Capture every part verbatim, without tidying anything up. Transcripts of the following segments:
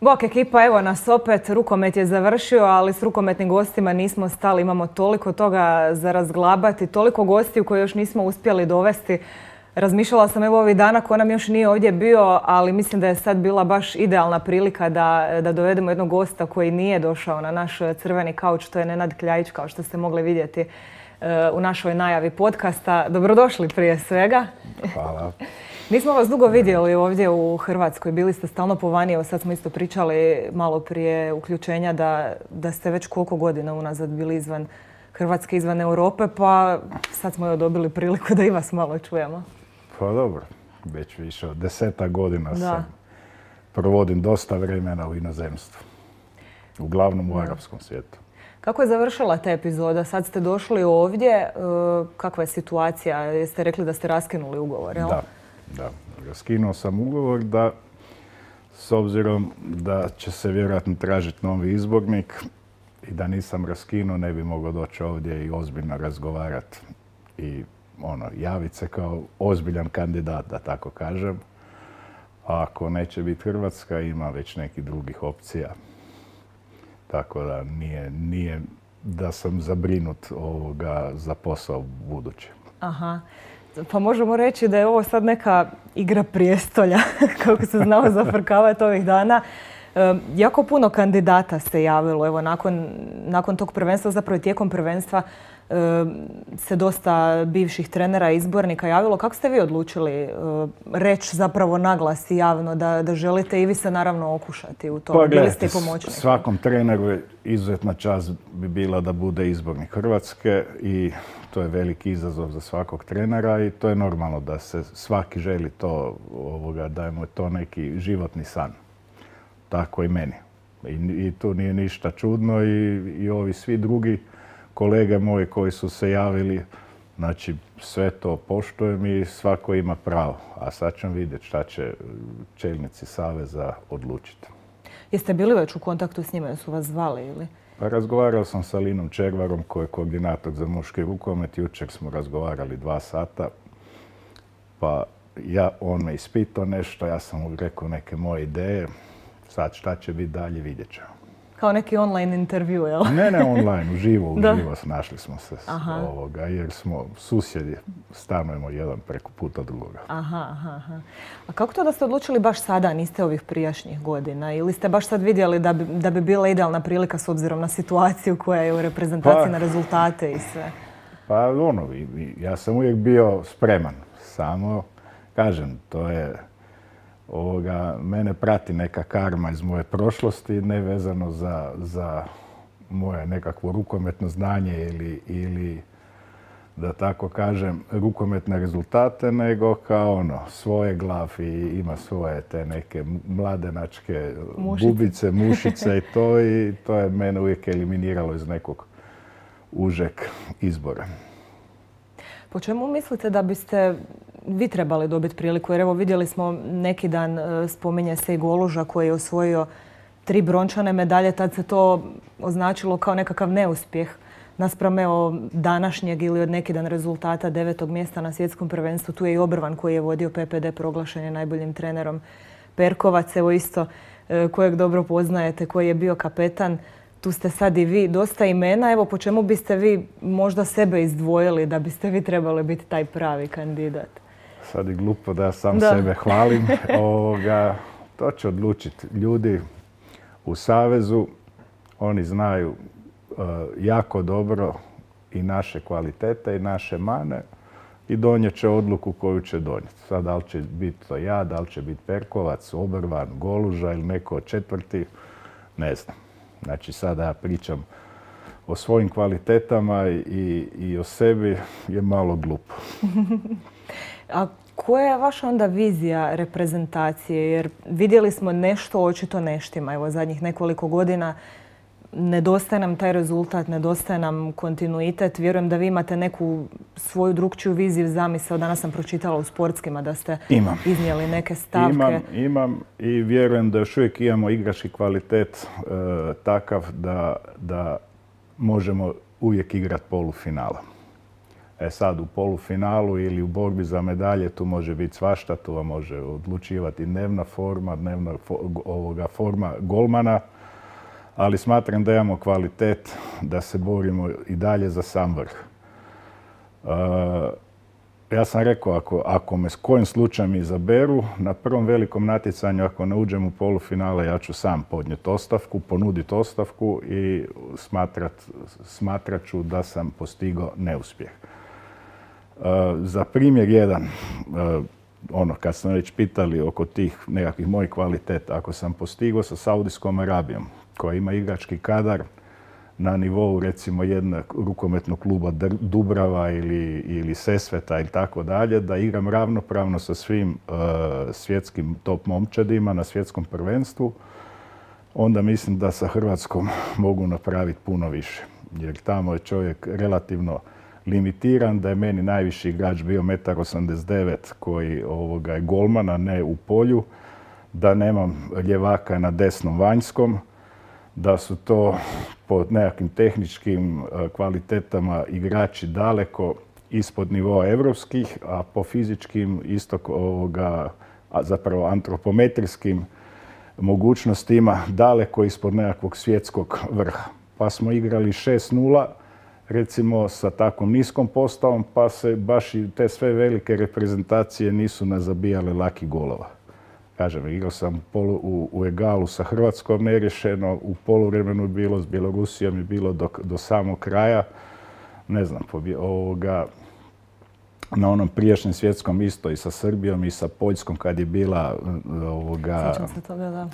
Bok ekipa, evo nas opet, rukomet je završio, ali s rukometnim gostima nismo stali. Imamo toliko toga za razglabati, toliko gostiju koje još nismo uspjeli dovesti. Razmišljala sam evo ovih dana ko nam još nije ovdje bio, ali mislim da je sad bila baš idealna prilika da, da dovedemo jednog gosta koji nije došao na naš crveni kauč. To je Nenad Kljajić, kao što ste mogli vidjeti u našoj najavi podcasta. Dobrodošli prije svega. Hvala. Nismo vas dugo vidjeli ovdje u Hrvatskoj, bili ste stalno po vani, evo sad smo isto pričali malo prije uključenja da, da ste već koliko godina unazad bili izvan Hrvatske, izvan Europe, pa sad smo joj dobili priliku da i vas malo čujemo. Pa dobro, već više od deseta godina da. sam provodim dosta vremena u inozemstvu, uglavnom u da. arapskom svijetu. Kako je završila ta epizoda? Sad ste došli ovdje, kakva je situacija? Jeste rekli da ste raskinuli ugovor, jel? Da. Da, raskinuo sam ugovor da, s obzirom da će se vjerojatno tražiti novi izbornik i da nisam raskinuo, ne bi mogao doći ovdje i ozbiljno razgovarati i ono, javiti se kao ozbiljan kandidat, da tako kažem. A ako neće biti Hrvatska, ima već nekih drugih opcija. Tako da nije, nije da sam zabrinut ovoga za posao budući. Aha. Pa možemo reći da je ovo sad neka igra prijestolja, kako se znao zafrkavati ovih dana. E, jako puno kandidata se javilo. Evo, nakon, nakon tog prvenstva, zapravo i tijekom prvenstva, e, se dosta bivših trenera i izbornika javilo. Kako ste vi odlučili e, reći zapravo naglas i javno da, da želite i vi se naravno okušati u tom? Pa Bili ste i pomoćnik. Svakom treneru je izuzetna čast bi bila da bude izbornik Hrvatske i to je veliki izazov za svakog trenera i to je normalno da se svaki želi to, ovoga, da je mu to neki životni san. Tako i meni. I, i tu nije ništa čudno i, i ovi svi drugi kolege moji koji su se javili, znači sve to poštujem i svako ima pravo. A sad ćemo vidjeti šta će čelnici Saveza odlučiti. Jeste bili već u kontaktu s njima, su vas zvali ili? Pa razgovarao sam sa Linom Červarom koji je koordinator za muški rukomet. Jučer smo razgovarali dva sata. Pa ja, on me ispitao nešto, ja sam mu rekao neke moje ideje. Sad šta će biti dalje, vidjet ćemo. Kao neki online intervju, jel? Ne, ne online, uživo, uživo našli smo se aha. ovoga, jer smo susjedi, stanujemo jedan preko puta drugoga. Aha, aha. A kako to da ste odlučili baš sada, niste ovih prijašnjih godina? Ili ste baš sad vidjeli da bi, da bi bila idealna prilika s obzirom na situaciju koja je u reprezentaciji, pa, na rezultate i sve? Pa ono, ja sam uvijek bio spreman. Samo, kažem, to je... Ovoga, mene prati neka karma iz moje prošlosti, ne vezano za, za moje nekakvo rukometno znanje ili, ili, da tako kažem, rukometne rezultate, nego kao ono, svoje glav i ima svoje te neke mladenačke mušice. bubice, mušice i to, i to je mene uvijek eliminiralo iz nekog užeg izbora. Po čemu mislite da biste vi trebali dobiti priliku? Jer evo vidjeli smo neki dan, spominje se i Goluža koji je osvojio tri brončane medalje. Tad se to označilo kao nekakav neuspjeh naspram evo današnjeg ili od neki dan rezultata devetog mjesta na svjetskom prvenstvu. Tu je i Obrvan koji je vodio P P D, proglašen je najboljim trenerom. Perkovac, evo isto, kojeg dobro poznajete, koji je bio kapetan. Tu ste sad i vi, dosta imena. Evo, po čemu biste vi možda sebe izdvojili da biste vi trebali biti taj pravi kandidat? Sad je glupo da sam da. sebe hvalim. Ovoga, to će odlučiti ljudi u Savezu. Oni znaju uh, jako dobro i naše kvalitete i naše mane i donijet će odluku koju će donijeti. Sad, da li će biti to ja, da li će biti Perkovac, Obrvan, Goluža ili neko od četvrti, ne znam. Znači, sada ja pričam o svojim kvalitetama i, i o sebi je malo glupo. A koja je vaša onda vizija reprezentacije? Jer vidjeli smo nešto očito neštima. Evo, zadnjih nekoliko godina nedostaje nam taj rezultat, nedostaje nam kontinuitet. Vjerujem da vi imate neku svoju drugčiju viziju, zamisao. Danas sam pročitala u Sportskima da ste imam. iznijeli neke stavke. Imam, imam i vjerujem da još uvijek imamo igrački kvalitet e, takav da, da možemo uvijek igrati polufinala. E sad, u polufinalu ili u borbi za medalje tu može biti svašta, tu vam može odlučivati dnevna forma, dnevna ovoga forma golmana, ali smatram da imamo kvalitet da se borimo i dalje za sam vrh. Uh, ja sam rekao, ako, ako me s kojim slučajem izaberu, na prvom velikom natjecanju, ako ne uđem u polufinale, ja ću sam podnijeti ostavku, ponuditi ostavku i smatrat, smatrat ću da sam postigao neuspjeh. Uh, za primjer jedan, uh, ono, kad sam već pitali oko tih nekakvih mojih kvaliteta, ako sam postigao sa Saudijskom Arabijom, koja ima igrački kadar na nivou recimo jednog rukometnog kluba Dubrava ili, ili Sesveta ili tako dalje, da igram ravnopravno sa svim uh, svjetskim top momčadima na svjetskom prvenstvu, onda mislim da sa Hrvatskom mogu napraviti puno više. Jer tamo je čovjek relativno limitiran, da je meni najviši igrač bio jedan osamdeset devet metra koji ovoga, je golman, a ne u polju, da nemam ljevaka na desnom vanjskom, da su to po nekakvim tehničkim kvalitetama igrači daleko ispod nivoa evropskih, a po fizičkim isto ovoga, a zapravo antropometrijskim mogućnostima daleko ispod nekakvog svjetskog vrha. Pa smo igrali šest nula, recimo sa takvom niskom postavom, pa se baš i te sve velike reprezentacije nisu nazabijale laki golova. Kažem, igrao sam polu, u, u egalu sa Hrvatskom neriješeno, u poluvremenu je bilo, s Bjelorusijom je bilo do, do samog kraja. Ne znam, ovoga, na onom prijašnjem svjetskom isto i sa Srbijom i sa Poljskom kad je bila ovoga, se toga, da.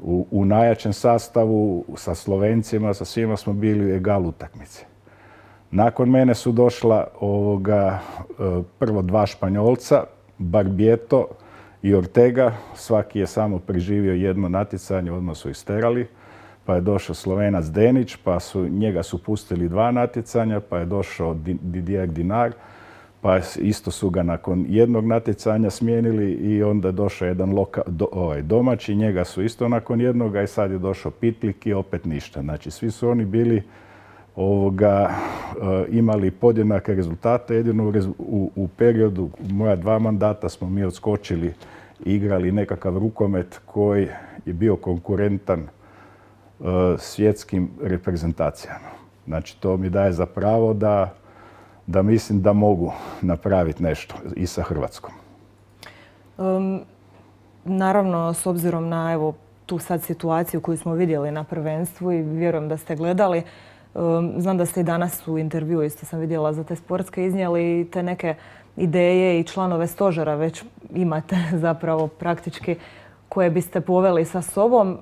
U, u najjačem sastavu, sa Slovencima, sa svima smo bili u egal utakmici. Nakon mene su došla ovoga, prvo dva Španjolca, Barbieto i Ortega, svaki je samo preživio jedno natjecanje, odmah su isterali, pa je došao Slovenac Denić, pa su njega su pustili dva natjecanja, pa je došao Didier Dinar, pa isto su ga nakon jednog natjecanja smijenili i onda je došao jedan loka, do, ovaj, domaći, njega su isto nakon jednoga i sad je došao Pitlik i opet ništa. Znači svi su oni bili ovoga, imali podjednake rezultate, jedino u, u periodu moja dva mandata smo mi odskočili i igrali nekakav rukomet koji je bio konkurentan uh, svjetskim reprezentacijama. Znači to mi daje za pravo da, da mislim da mogu napraviti nešto i sa Hrvatskom. Um, naravno, s obzirom na evo, tu sad situaciju koju smo vidjeli na prvenstvu i vjerujem da ste gledali, znam da ste i danas u intervju, isto sam vidjela za te sportske, iznijeli te neke ideje i članove stožera već imate zapravo praktički koje biste poveli sa sobom.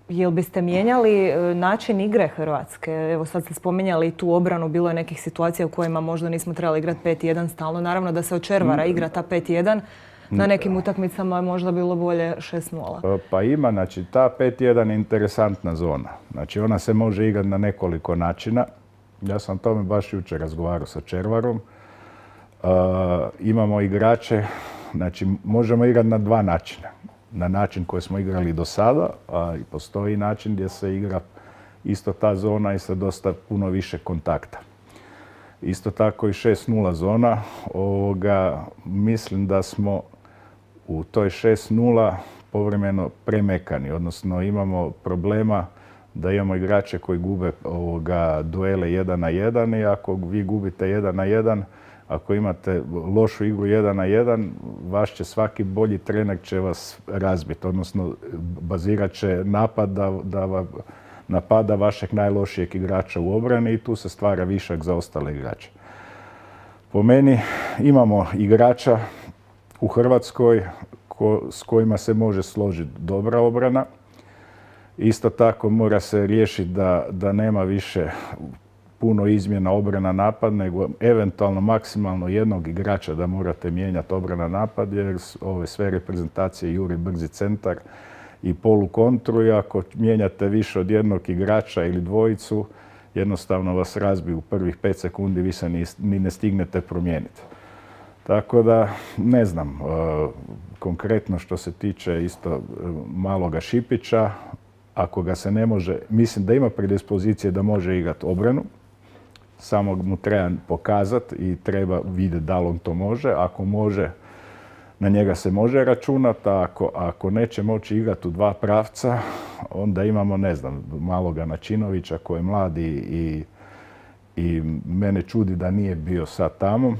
Jel biste mijenjali način igre Hrvatske? Evo sad ste spominjali tu obranu, bilo je nekih situacija u kojima možda nismo trebali igrati pet jedan stalno. Naravno da se od Červara igra ta pet jedan. Na nekim utakmicama je možda bilo bolje šest nula. Pa ima, znači ta pet jedan je interesantna zona. Znači ona se može igrati na nekoliko načina. Ja sam o tome baš jučer razgovarao sa Červarom. Uh, imamo igrače, znači možemo igrati na dva načina. Na način koji smo igrali do sada, a i postoji način gdje se igra isto ta zona i sa dosta puno više kontakta. Isto tako i šest nula zona. Ovoga, mislim da smo u toj šest nula povremeno premekani, odnosno imamo problema da imamo igrače koji gube ovoga duele jedan na jedan i ako vi gubite jedan na jedan, ako imate lošu igru jedan na jedan, vaš će svaki bolji trener će vas razbiti, odnosno bazirat će napad da, da napada vašeg najlošijeg igrača u obrani i tu se stvara višak za ostale igrače. Po meni imamo igrača u Hrvatskoj ko, s kojima se može složiti dobra obrana. Isto tako mora se riješiti da, da nema više puno izmjena obrana napad, nego eventualno maksimalno jednog igrača da morate mijenjati obrana napad, jer ove sve reprezentacije juri brzi centar i polukontru i ako mijenjate više od jednog igrača ili dvojicu, jednostavno vas razbiju u prvih pet sekundi, vi se ni, ni ne stignete promijeniti. Tako da, ne znam, konkretno što se tiče isto maloga Šipića, ako ga se ne može, mislim da ima predispozicije da može igrati obranu, samo mu treba pokazati i treba vidjeti da li on to može. Ako može, na njega se može računati, a ako, ako neće moći igrati u dva pravca, onda imamo, ne znam, maloga Načinovića koji je mladi i, i mene čudi da nije bio sad tamo.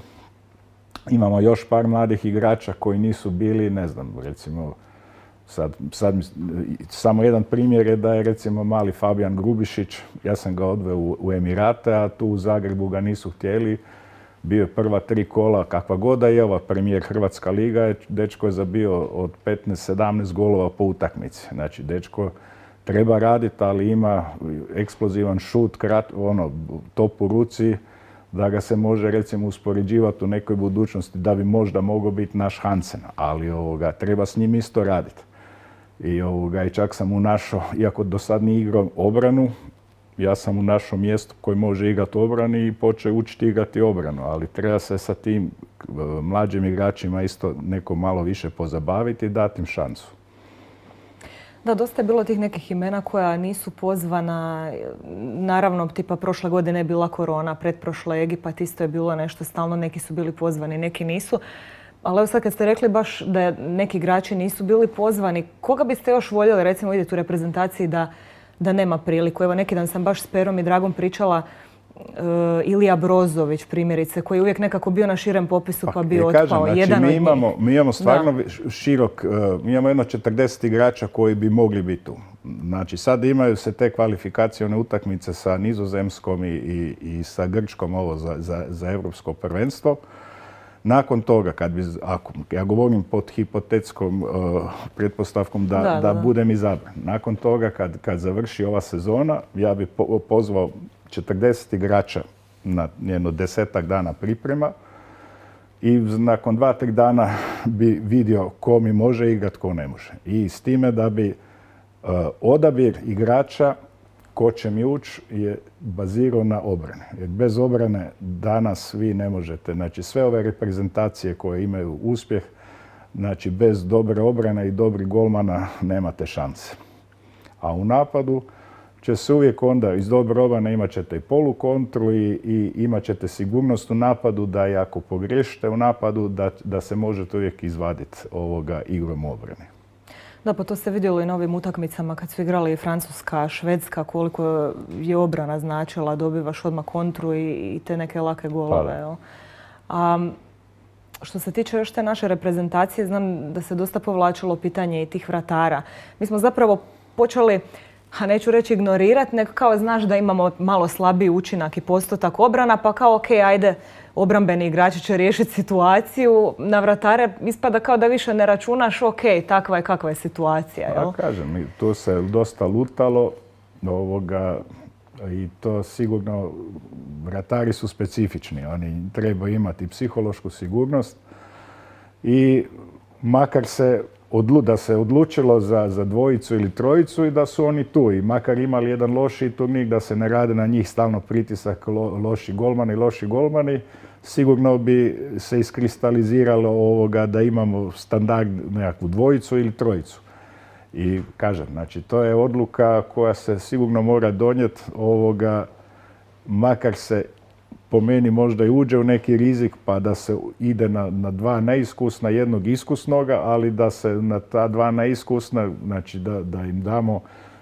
Imamo još par mladih igrača koji nisu bili, ne znam, recimo, sad, sad samo jedan primjer je da je recimo mali Fabijan Grubišić, ja sam ga odveo u, u Emirate, a tu u Zagrebu ga nisu htjeli. Bio je prva tri kola, kakva god da je ova premijer Hrvatska liga, dečko je zabio od petnaest sedamnaest golova po utakmici. Znači, dečko treba raditi, ali ima eksplozivan šut, krat, ono, top u ruci, da ga se može recimo uspoređivati u nekoj budućnosti da bi možda mogao biti naš Hansen, ali ovoga, treba s njim isto raditi. I, ovoga, i čak sam mu našao, iako do sad nije igrao obranu, ja sam u našom mjestu koji može igrati obrani i počeo učiti igrati obranu, ali treba se sa tim mlađim igračima isto neko malo više pozabaviti i dati im šansu. Da, dosta je bilo tih nekih imena koja nisu pozvana. Naravno, tipa prošle godine je bila korona, pretprošla Egipat, isto je bilo nešto stalno, neki su bili pozvani, neki nisu. Ali evo sad kad ste rekli baš da neki igrači nisu bili pozvani, koga biste još voljeli recimo vidjeti u reprezentaciji da da nema priliku? Evo, neki dan sam baš s Perom i Dragom pričala uh, Ilija Brozović, primjerice, koji je uvijek nekako bio na širem popisu pa, pa bio otpao. Kažem, znači, jedan mi, imamo, mi imamo stvarno da. širok, uh, mi imamo jedno četrdeset igrača koji bi mogli biti tu. Znači, sad imaju se te kvalifikacione utakmice sa Nizozemskom i, i, i sa Grčkom ovo za, za, za europsko prvenstvo. Nakon toga, kad bi, ako, ja govorim pod hipotetskom uh, pretpostavkom da, da, da, da budem izabran. Nakon toga, kad, kad završi ova sezona, ja bi po, pozvao četrdeset igrača na jedno desetak dana priprema i nakon dva, tri dana bi vidio ko mi može igrati, ko ne može. I s time da bi uh, odabir igrača ko će mi ući je bazirao na obrane. Jer bez obrane danas vi ne možete. Znači sve ove reprezentacije koje imaju uspjeh, znači bez dobre obrane i dobrih golmana nemate šanse. A u napadu će se uvijek onda iz dobre obrane imat ćete i polukontru i, i imat ćete sigurnost u napadu da i ako pogriješite u napadu da, da se možete uvijek izvaditi ovoga igrom obrane. Da, pa to se vidjelo i na ovim utakmicama kad su igrali Francuska, Švedska, koliko je obrana značila, dobivaš odmah kontru i, i te neke lake golove. A, što se tiče još te naše reprezentacije, znam da se dosta povlačilo pitanje i tih vratara. Mi smo zapravo počeli, a neću reći ignorirati, nego kao znaš da imamo malo slabiji učinak i postotak obrana, pa kao ok, ajde, obrambeni igrači će riješiti situaciju. Na vratare ispada kao da više ne računaš, ok, takva je kakva je situacija. Jel? Ja kažem, tu se dosta lutalo ovoga, i to sigurno vratari su specifični. Oni trebaju imati psihološku sigurnost i makar se Odlu, da se odlučilo za, za dvojicu ili trojicu i da su oni tu. I makar imali jedan loši turnir, da se ne rade na njih stalno pritisak lo, loši golmani, loši golmani, sigurno bi se iskristaliziralo ovoga da imamo standard nekakvu dvojicu ili trojicu. I kažem, znači to je odluka koja se sigurno mora donijeti ovoga, makar se po meni možda i uđe u neki rizik pa da se ide na, na dva neiskusna, jednog iskusnoga, ali da se na ta dva neiskusna, znači da, da im damo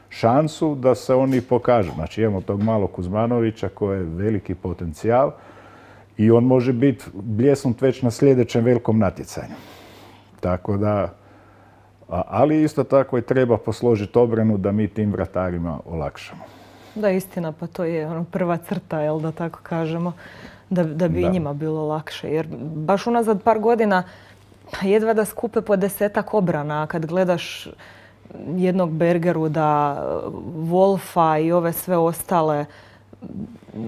šansu da se oni pokažu. Znači imamo tog malog Kuzmanovića koji je veliki potencijal i on može biti bljesnut već na sljedećem velikom natjecanju. Tako da, ali isto tako i treba posložiti obranu da mi tim vratarima olakšamo. Da, istina, pa to je ono prva crta, jel da tako kažemo, da, da bi da. njima bilo lakše. Jer baš unazad par godina jedva da skupe po desetak obrana. Kad gledaš jednog Bergeruda, Wolfa i ove sve ostale,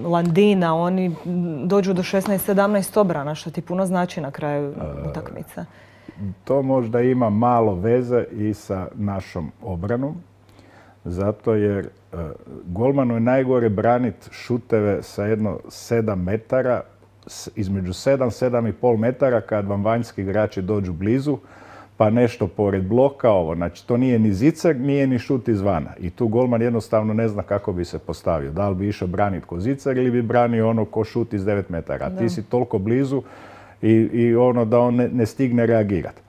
Landina, oni dođu do šesnaest sedamnaest obrana, što ti puno znači na kraju utakmice. To možda ima malo veze i sa našom obranom. Zato jer uh, golmanu je najgore braniti šuteve sa jedno sedam metara, između sedam, sedam i pol metara kad vam vanjski igrači dođu blizu, pa nešto pored bloka, ovo. Znači, to nije ni zicer, nije ni šut izvana. I tu golman jednostavno ne zna kako bi se postavio. Da li bi išao braniti ko zicer ili bi branio ono ko šut iz devet metara. A ti si toliko blizu i, i ono da on ne, ne stigne reagirati.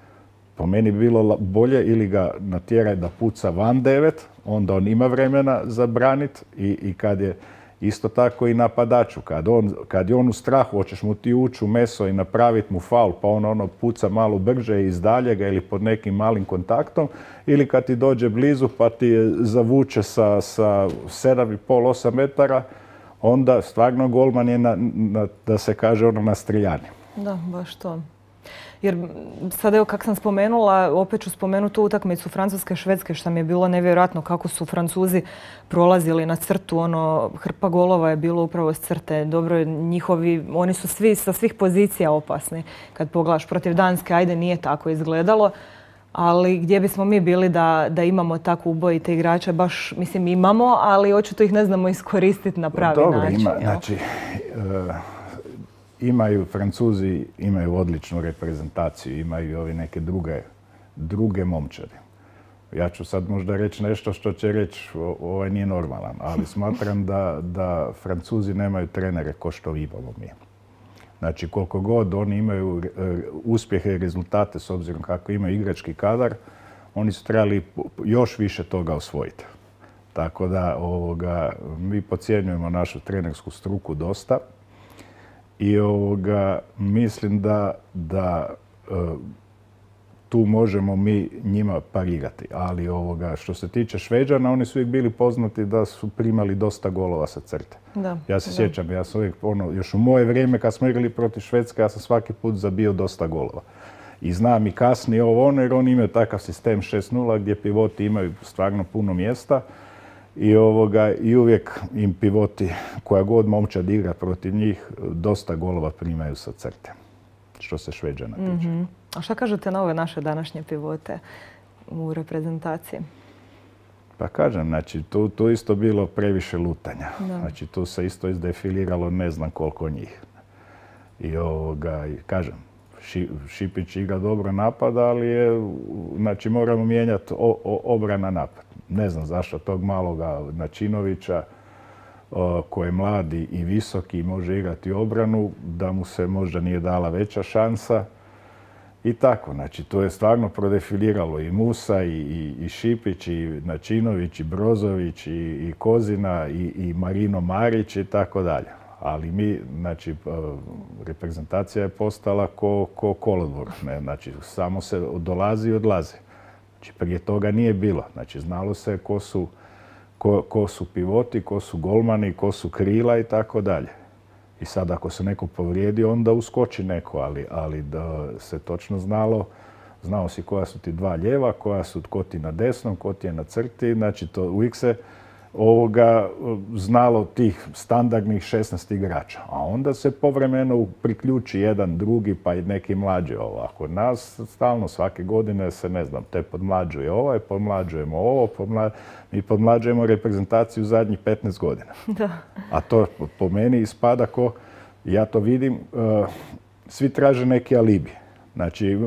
Po meni bi bilo bolje ili ga natjeraj da puca van devet, onda on ima vremena za branit i, i kad je isto tako i napadaču. Kad, on, kad je on u strahu, hoćeš mu ti ući u meso i napraviti mu faul, pa on ono puca malo brže iz daljega ili pod nekim malim kontaktom, ili kad ti dođe blizu pa ti je zavuče sa, sa sedam i pol, osam metara, onda stvarno golman je na, na, da se kaže ono na streljani. Da, baš to. Jer sad evo kako sam spomenula, opet ću spomenuti tu utakmicu Francuske-Švedske što mi je bilo nevjerojatno kako su Francuzi prolazili na crtu. Ono, hrpa golova je bilo upravo s crte. Dobro, njihovi, oni su svi sa svih pozicija opasni. Kad pogledaš protiv Danske, ajde nije tako izgledalo. Ali gdje bismo mi bili da, da imamo tako ubojite igrače? Baš, mislim, imamo, ali očito ih ne znamo iskoristiti na pravi Dobro, način. Ima, znači, uh... Imaju, Francuzi imaju odličnu reprezentaciju, imaju ovi neke druge, druge momčadi. Ja ću sad možda reći nešto što će reći ovaj nije normalan, ali smatram da, da Francuzi nemaju trenere ko što imamo mi. Znači koliko god oni imaju uspjehe i rezultate s obzirom kako imaju igrački kadar, oni su trebali još više toga osvojiti. Tako da ovoga, mi podcjenjujemo našu trenersku struku dosta. I ovoga, mislim da, da e, tu možemo mi njima parirati. Ali ovoga, što se tiče Šveđana, oni su uvijek bili poznati da su primali dosta golova sa crte. Da, ja se da. sjećam, ja sam uvijek, ono, još u moje vrijeme kad smo igrali protiv Švedske, ja sam svaki put zabio dosta golova. I znam i kasnije ovo ono, jer oni imaju takav sistem šest nula gdje pivoti imaju stvarno puno mjesta. I, ovoga, I uvijek im pivoti, koja god momčad igra protiv njih, dosta golova primaju sa crte, što se Šveđana tiče. Mm-hmm. A šta kažete na ove naše današnje pivote u reprezentaciji? Pa kažem, znači, tu, tu isto bilo previše lutanja. Da. Znači, tu se isto izdefiliralo ne znam koliko njih. I ovoga, kažem, Ši, Šipić igra dobro napada, ali je, znači, moramo mijenjati o, o, obrana napad. Ne znam zašto tog maloga Načinovića, koji je mladi i visoki i može igrati obranu, da mu se možda nije dala veća šansa. I tako, znači, to je stvarno prodefiliralo i Musa, i, i, i Šipić, i Načinović, i Brozović, i, i Kozina, i, i Marino Marić i tako dalje. Ali mi, znači, reprezentacija je postala ko, ko kolodvor. Ne? Znači, samo se dolazi i odlazi. Znači, prije toga nije bilo. Znači, znalo se ko su, ko, ko su pivoti, ko su golmani, ko su krila i tako dalje. I sad ako se neko povrijedi, onda uskoči neko, ali, ali da se točno znalo, znao si koja su ti dva lijeva, koja su ko ti na desnom, ko ti je na crti. Znači, to uvijek se ovoga znalo tih standardnih šesnaest igrača. A onda se povremeno priključi jedan, drugi, pa i neki mlađi ovo. Kod nas stalno svake godine se, ne znam, te podmlađuje ovaj, podmlađujemo ovo, podmla... mi podmlađujemo reprezentaciju zadnjih petnaest godina. Da. A to po meni ispada ko, ja to vidim, uh, svi traže neki alibi. Znači, i,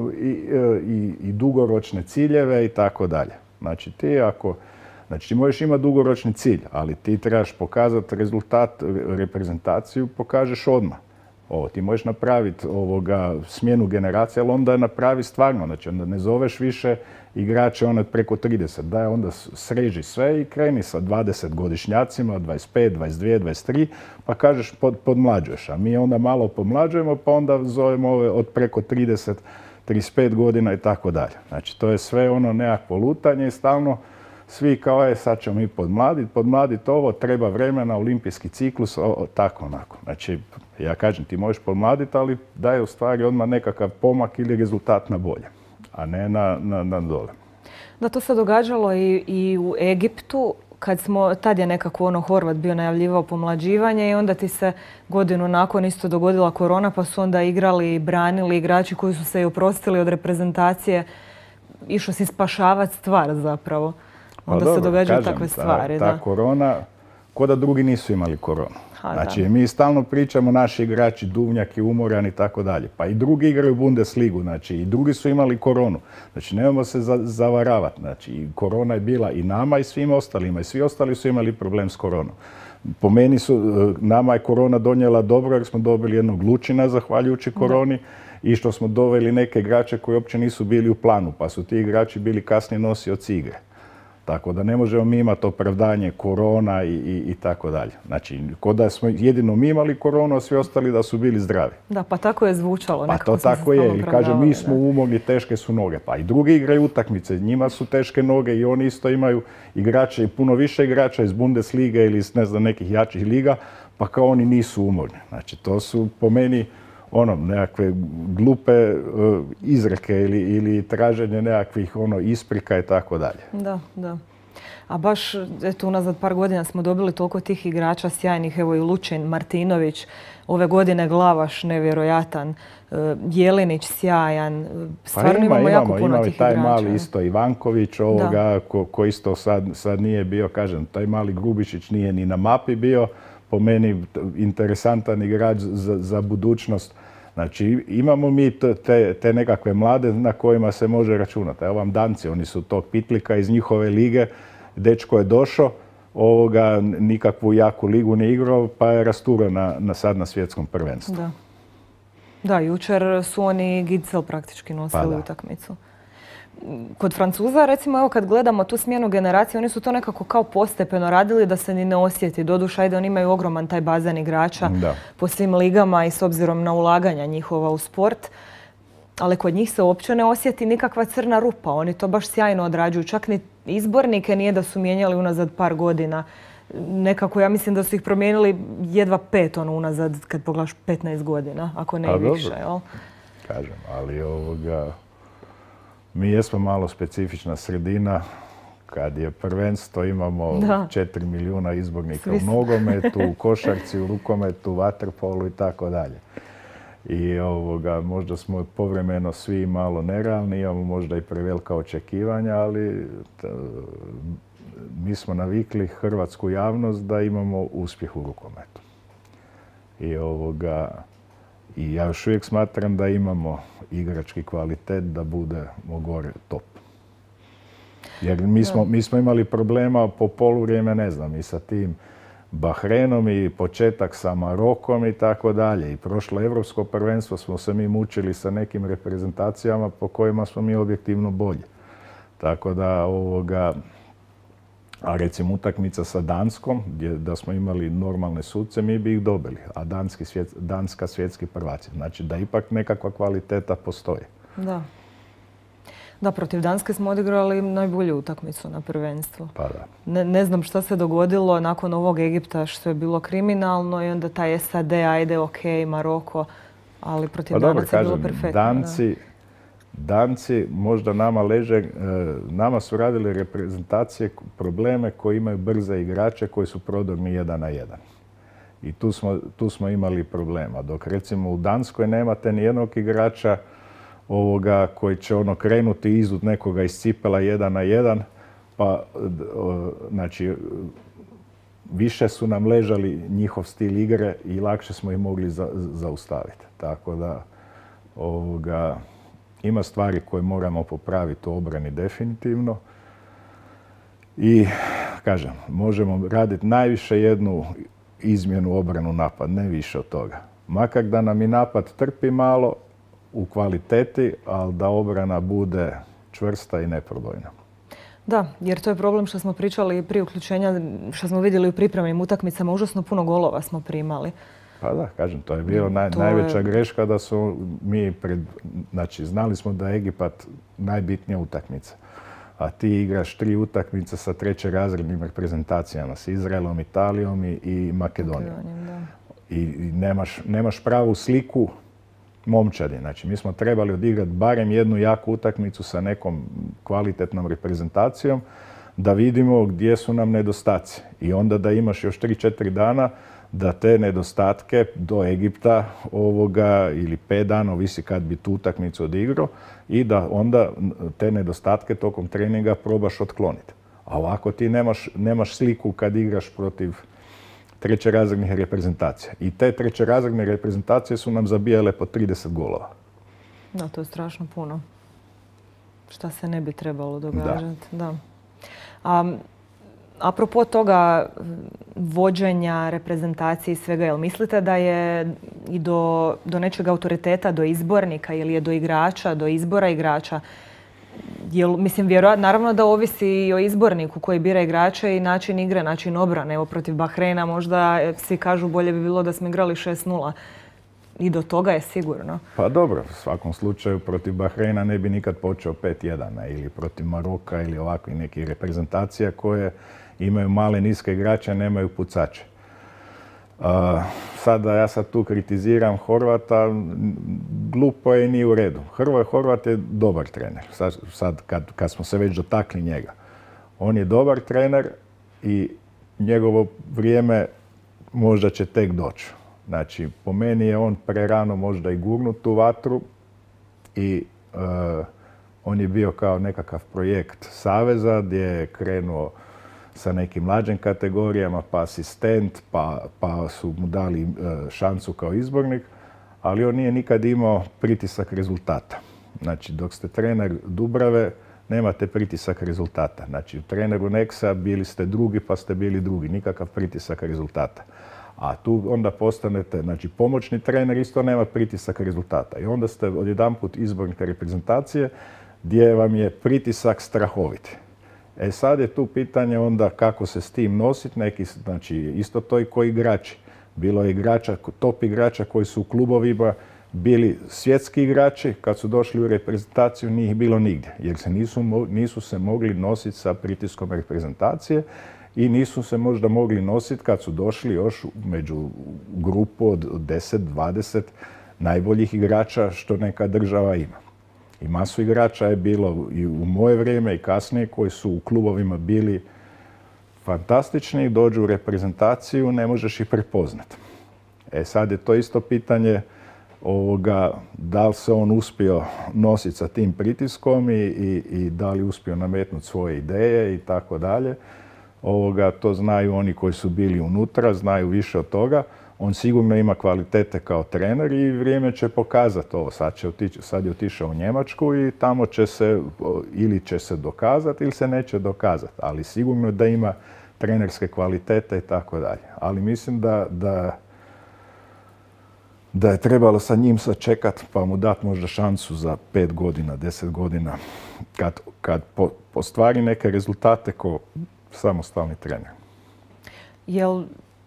i, i dugoročne ciljeve i tako dalje. Znači, ti ako Znači, ti možeš imati dugoročni cilj, ali ti trebaš pokazati rezultat, reprezentaciju, pokažeš odmah. Ovo, ti možeš napraviti ovoga smjenu generacije, ali onda napravi stvarno. Znači, onda ne zoveš više igrače ono preko trideset. Daj, onda sreži sve i kreni sa dvadesetgodišnjacima, dvadeset pet, dvadeset dvije, dvadeset tri, pa kažeš pod, podmlađuješ. A mi onda malo pomlađujemo, pa onda zovemo ove od preko trideset, trideset pet godina i tako dalje. Znači, to je sve ono nekakvo lutanje i stalno svi kao je, sad ćemo mi podmladiti, podmladiti ovo, treba vremena, olimpijski ciklus, o, tako onako. Znači, ja kažem, ti možeš podmladiti, ali daje u stvari odmah nekakav pomak ili rezultat na bolje, a ne na, na, na dole. Da, to se događalo i, i u Egiptu, kad smo, tad je nekako ono Horvat bio najavljivao pomlađivanje i onda ti se godinu nakon isto dogodila korona, pa su onda igrali i branili igrači koji su se i oprostili od reprezentacije. Išao si spašavati stvar zapravo. Onda pa se dobro, događaju kažem, takve stvari. Ta, ta da. korona, ko da drugi nisu imali koronu. Ha, znači, da. mi stalno pričamo, naši igrači, Duvnjak je umoran i tako dalje. Pa i drugi igraju Bundesligu, znači, i drugi su imali koronu. Znači, nemojmo se za, zavaravati. Znači, korona je bila i nama i svim ostalima. I svi ostali su imali problem s koronom. Po meni su, nama je korona donijela dobro jer smo dobili jednog Lučina zahvaljujući koroni. Da. I što smo doveli neke igrače koji uopće nisu bili u planu, pa su ti igrači bili kasnije nosioci igre. Tako da ne možemo mi imati opravdanje korona i, i, i tako dalje. Znači, kod da smo jedino mi imali koronu, a svi ostali da su bili zdravi. Da, pa tako je zvučalo. Pa to tako je. I kaže, mi smo umorni, teške su noge. Pa i drugi igraju utakmice, njima su teške noge i oni isto imaju igrače i puno više igrača iz Bundeslige ili iz ne znam, nekih jačih liga, pa kao oni nisu umorni. Znači, to su po meni ono, nekakve glupe uh, izreke ili, ili traženje nekakvih ono, isprika i tako dalje. Da, da. A baš, eto, unazad par godina smo dobili toliko tih igrača sjajnih, evo i Lučin, Martinović, ove godine Glavaš, nevjerojatan, uh, Jelinić, sjajan. Stvarno pa ima, imamo, imamo jako puno imamo tih taj igrača. mali isto Ivanković ovoga, ko, ko isto sad, sad nije bio, kažem, taj mali Grubišić nije ni na mapi bio. Po meni interesantan igrač za, za budućnost. Znači, imamo mi te, te nekakve mlade na kojima se može računati. Evo vam Danci, oni su tog Pitlika iz njihove lige. Dečko je došao, ovoga, nikakvu jaku ligu ne igrao, pa je rasturao na, na sad na svjetskom prvenstvu. Da. Da, jučer su oni Gitzel praktički nosili pa utakmicu. Kod Francuza, recimo, evo kad gledamo tu smjenu generacije, oni su to nekako kao postepeno radili da se ni ne osjeti. Doduše, ajde, oni imaju ogroman taj bazen igrača da. po svim ligama i s obzirom na ulaganja njihova u sport. Ali kod njih se uopće ne osjeti nikakva crna rupa. Oni to baš sjajno odrađuju. Čak ni izbornike nije da su mijenjali unazad par godina. Nekako, ja mislim da su ih promijenili jedva pet, ono, unazad, kad pogledaš petnaest godina, ako ne i više. Jel? Kažem, ali ovoga... Mi jesmo malo specifična sredina. Kad je prvenstvo, imamo četiri milijuna izbornika u nogometu, u košarci, u rukometu, vaterpolu i tako dalje. I ovoga, možda smo povremeno svi malo nerealni, imamo možda i prevelika očekivanja, ali t, mi smo navikli hrvatsku javnost da imamo uspjeh u rukometu. I ovoga... I ja još uvijek smatram da imamo igrački kvalitet da budemo gore top. Jer mi smo, mi smo imali problema po poluvrijeme, ne znam, i sa tim Bahrenom i početak sa Marokom i tako dalje. I prošlo evropsko prvenstvo smo se mi mučili sa nekim reprezentacijama po kojima smo mi objektivno bolji. Tako da ovoga... A recimo utakmica sa Danskom, gdje da smo imali normalne suce, mi bi ih dobili. A Danski svjet, Danska svjetski prvaci. Znači da ipak nekakva kvaliteta postoji. Da. Da, protiv Danske smo odigrali najbolju utakmicu na prvenstvu. Pa da. Ne, ne znam šta se dogodilo nakon ovog Egipta što je bilo kriminalno i onda taj S A D, ajde, ok, Maroko, ali protiv pa Danaca je bilo perfektno. Danci, Danci možda nama leže, nama su radili reprezentacije probleme koji imaju brze igrače koji su prodorni jedan na jedan. I tu smo, tu smo imali problema. Dok recimo u Danskoj nemate ni jednog igrača ovoga koji će ono krenuti izud nekoga iz cipela jedan na jedan, pa znači više su nam ležali njihov stil igre i lakše smo ih mogli za, zaustaviti. Tako da ovoga, ima stvari koje moramo popraviti u obrani definitivno. I, kažem, možemo raditi najviše jednu izmjenu obranu napad, ne više od toga. Makar da nam i napad trpi malo u kvaliteti, ali da obrana bude čvrsta i neprobojna. Da, jer to je problem što smo pričali prije uključenja, što smo vidjeli u pripremnim utakmicama, užasno puno golova smo primali. Pa da, kažem, to je bila naj, najveća je... greška da su mi, pred, znači znali smo da je Egipat najbitnija utakmica. A ti igraš tri utakmice sa trećerazrednim reprezentacijama, s Izraelom, Italijom i, i Makedonijom. Da. I, i nemaš, nemaš pravu sliku momčadi. Znači, mi smo trebali odigrati barem jednu jaku utakmicu sa nekom kvalitetnom reprezentacijom da vidimo gdje su nam nedostaci. I onda da imaš još tri četiri dana da te nedostatke do Egipta ovoga ili pet dana, ovisi kad bi tu utakmicu odigrao, i da onda te nedostatke tokom treninga probaš otkloniti. A ovako ti nemaš, nemaš sliku kad igraš protiv trećerazrednih reprezentacija. I te trećerazredne reprezentacije su nam zabijale po trideset golova. Da, to je strašno puno. Šta se ne bi trebalo događati. Da. A, apropo toga vođenja, reprezentacije i svega, jel mislite da je i do, do nečeg autoriteta, do izbornika ili je do igrača, do izbora igrača? Jel, mislim, vjerojatno, naravno da ovisi i o izborniku koji bira igrače i način igre, način obrane. Evo, protiv Bahreina možda svi kažu bolje bi bilo da smo igrali šest nula. I do toga je sigurno. Pa dobro, u svakom slučaju protiv Bahreina ne bi nikad počeo pet jedan ili protiv Maroka ili ovakvih nekih reprezentacija koje imaju male, niske igrače, nemaju pucače. Uh, sada ja sad tu kritiziram Horvata, glupo je i nije u redu. Hrvoje Horvat je dobar trener, sad, sad kad, kad smo se već dotakli njega. On je dobar trener i njegovo vrijeme možda će tek doći. Znači, po meni je on prerano možda i gurnut u vatru i uh, on je bio kao nekakav projekt saveza gdje je krenuo sa nekim mlađim kategorijama, pa asistent, pa, pa su mu dali uh, šansu kao izbornik, ali on nije nikad imao pritisak rezultata. Znači, dok ste trener Dubrave, nemate pritisak rezultata. Znači, u treneru Nexa bili ste drugi, pa ste bili drugi. Nikakav pritisak rezultata. A tu onda postanete, znači pomoćni trener isto nema pritisak rezultata. I onda ste odjedanput izbornik reprezentacije gdje vam je pritisak strahovit. E sad je tu pitanje onda kako se s tim nositi. Neki, znači isto to i koji igrači. Bilo je igrača, top igrača koji su u klubovima bili svjetski igrači, kad su došli u reprezentaciju nije ih bilo nigdje. Jer se nisu, nisu se mogli nositi sa pritiskom reprezentacije. I nisu se možda mogli nositi kad su došli još među grupu od deset dvadeset najboljih igrača što neka država ima. I masu igrača je bilo i u moje vrijeme i kasnije koji su u klubovima bili fantastični, dođu u reprezentaciju, ne možeš ih prepoznati. E sad je to isto pitanje ovoga, da li se on uspio nositi sa tim pritiskom i, i, i da li uspio nametnuti svoje ideje i tako dalje. Ovoga, to znaju oni koji su bili unutra, znaju više od toga. On sigurno ima kvalitete kao trener i vrijeme će pokazati ovo. Sad, će otići, sad je otišao u Njemačku i tamo će se, ili će se dokazati ili se neće dokazati. Ali sigurno da ima trenerske kvalitete i tako dalje. Ali mislim da, da, da je trebalo sa njim sačekati pa mu dati možda šansu za pet godina, deset godina. Kad, kad po, postvari neke rezultate ko samostalni trener. Jel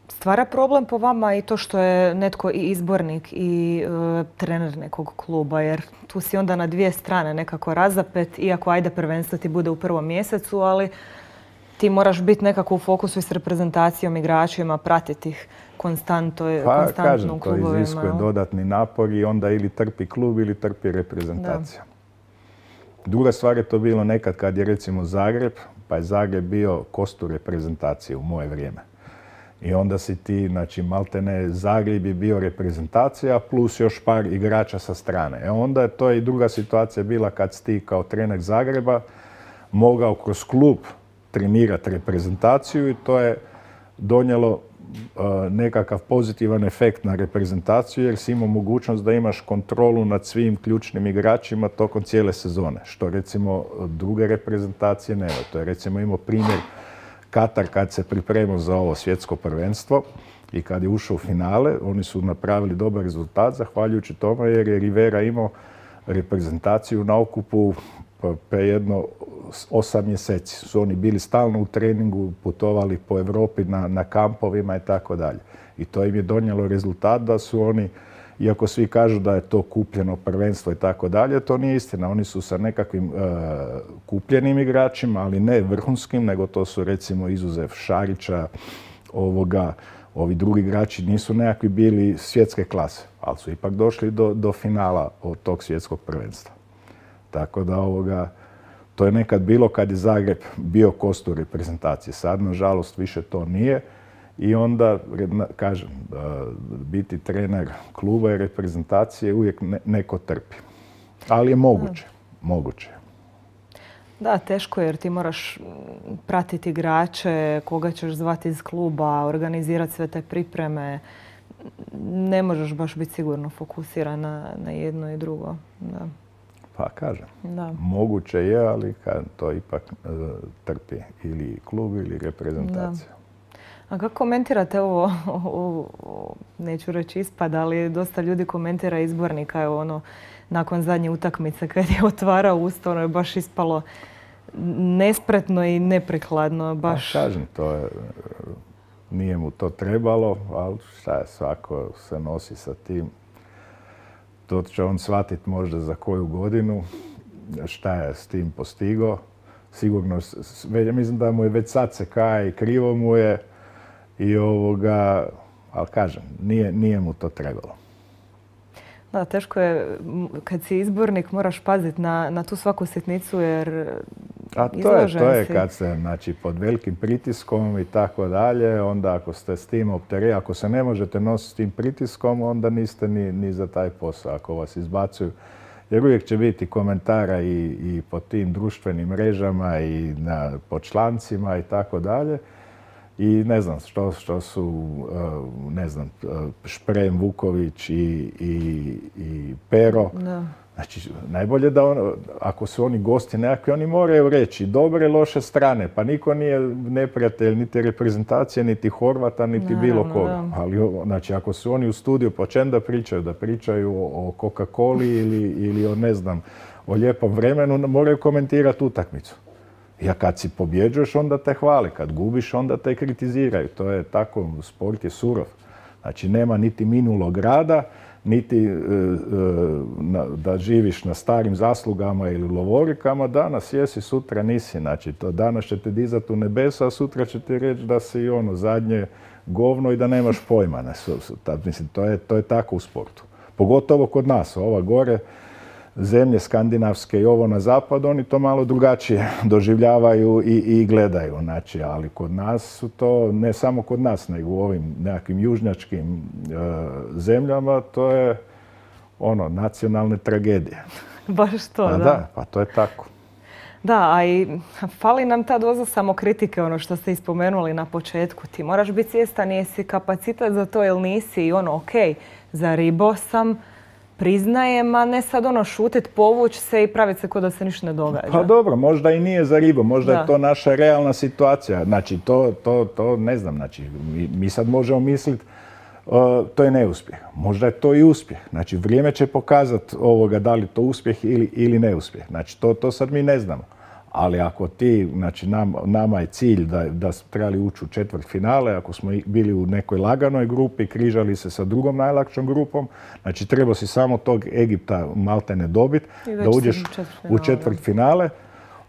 stvara problem po vama i to što je netko i izbornik i e, trener nekog kluba? Jer tu si onda na dvije strane nekako razapet, iako ajde prvenstvo ti bude u prvom mjesecu, ali ti moraš biti nekako u fokusu i s reprezentacijom, igračima, pratiti ih konstantno, pa, konstantno kažem, u klubovima. to iziskuje dodatni napor i onda ili trpi klub ili trpi reprezentacija. Da. Druga stvar je to bilo nekad kad je recimo Zagreb, pa je Zagreb bio kostu reprezentacije u moje vrijeme. I onda si ti, znači maltene Zagreb je bio reprezentacija plus još par igrača sa strane. E onda je to i druga situacija bila kad si ti kao trener Zagreba mogao kroz klub trenirati reprezentaciju i to je donijelo uh, nekakav pozitivan efekt na reprezentaciju jer si imao mogućnost da imaš kontrolu nad svim ključnim igračima tokom cijele sezone, što recimo druge reprezentacije nema. To je recimo imao primjer Katar kad se pripremao za ovo svjetsko prvenstvo i kad je ušao u finale, oni su napravili dobar rezultat zahvaljujući tome jer je Rivera imao reprezentaciju na okupu pa jedno osam mjeseci. Su oni bili stalno u treningu, putovali po Europi na, na kampovima i tako dalje. I to im je donijelo rezultat da su oni, iako svi kažu da je to kupljeno prvenstvo i tako dalje, to nije istina. Oni su sa nekakvim uh, kupljenim igračima, ali ne vrhunskim, nego to su recimo izuzev Šarića, ovoga, ovi drugi igrači nisu nekakvi bili svjetske klase, ali su ipak došli do, do finala od tog svjetskog prvenstva. Tako da ovoga, to je nekad bilo kad je Zagreb bio kostur reprezentacije. Sad, nažalost, više to nije. I onda, kažem, biti trener kluba i reprezentacije uvijek neko trpi. Ali je moguće. Moguće. Da, teško jer ti moraš pratiti igrače, koga ćeš zvati iz kluba, organizirati sve te pripreme. Ne možeš baš biti sigurno fokusiran na, na jedno i drugo. Da. Pa kažem, da. Moguće je, ali kad to ipak uh, trpi ili klub ili reprezentacija. Da. A kako komentirate ovo, ovo, neću reći ispad, ali dosta ljudi komentira izbornika, evo ono, nakon zadnje utakmice kad je otvarao usta, ono je baš ispalo nespretno i neprikladno. Baš... Pa kažem, to je, nije mu to trebalo, ali šta je, svako se nosi sa tim. To će on shvatiti možda za koju godinu, šta je s tim postigao. Sigurno, mislim da mu je već sad se kaje i krivo mu je. I ovoga, ali kažem, nije, nije mu to trebalo. Da, teško je, kad si izbornik moraš paziti na, na tu svaku sitnicu jer A to je, to je kad se, znači, pod velikim pritiskom i tako dalje, onda ako ste s tim opterećeni, ako se ne možete nositi s tim pritiskom, onda niste ni, ni za taj posao ako vas izbacuju. Jer uvijek će biti komentara i, i po tim društvenim mrežama i na, po člancima i tako dalje. I ne znam što, što su, ne znam, Šprem, Vuković i, i, i Pero. Da. Znači, najbolje da on, ako su oni gosti nekakvi, oni moraju reći dobre, loše strane. Pa niko nije neprijatelj niti reprezentacije, niti Horvata, niti Naravno, bilo koga. Da. Ali znači, ako su oni u studiju, po čem da pričaju? Da pričaju o, o Coca-Coli ili, ili o, ne znam, o lijepom vremenu, moraju komentirati utakmicu. Ja kad si pobjeđuješ, onda te hvali. Kad gubiš, onda te kritiziraju. To je tako, sport je surov. Znači, nema niti minulog rada, niti e, e, na, da živiš na starim zaslugama ili lovorikama. Danas jesi, sutra nisi. Znači, to danas će te dizati u nebesa, a sutra će ti reći da si ono zadnje govno i da nemaš pojma. Ne, su, su, ta, mislim, to je, to je tako u sportu. Pogotovo kod nas, ova gore, zemlje skandinavske i ovo na zapadu, oni to malo drugačije doživljavaju i, i gledaju. Znači, ali kod nas su to, ne samo kod nas, nego u ovim nekakvim južnjačkim e, zemljama, to je ono, nacionalne tragedije. Baš to, pa da. Da, pa to je tako. Da, a i fali nam ta doza samokritike, ono što ste ispomenuli na početku. Ti moraš biti svjestan, jesi kapacitet za to ili nisi i ono, ok, zaribo sam, priznajem, a ne sad ono šutit, povući se i praviti se kao da se ništa ne događa. Pa dobro, možda i nije za ribu, možda da. je to naša realna situacija. Znači, to, to, to ne znam, znači, mi, mi sad možemo misliti uh, to je neuspjeh. Možda je to i uspjeh. Znači, vrijeme će pokazati ovoga da li to uspjeh ili, ili neuspjeh. Znači, to, to sad mi ne znamo. Ali ako ti, znači nam, nama je cilj da, da smo trebali ući u četvrt finale, ako smo bili u nekoj laganoj grupi, križali se sa drugom najlakšom grupom, znači treba si samo tog Egipta maltene dobiti, da uđeš u četvrt finale,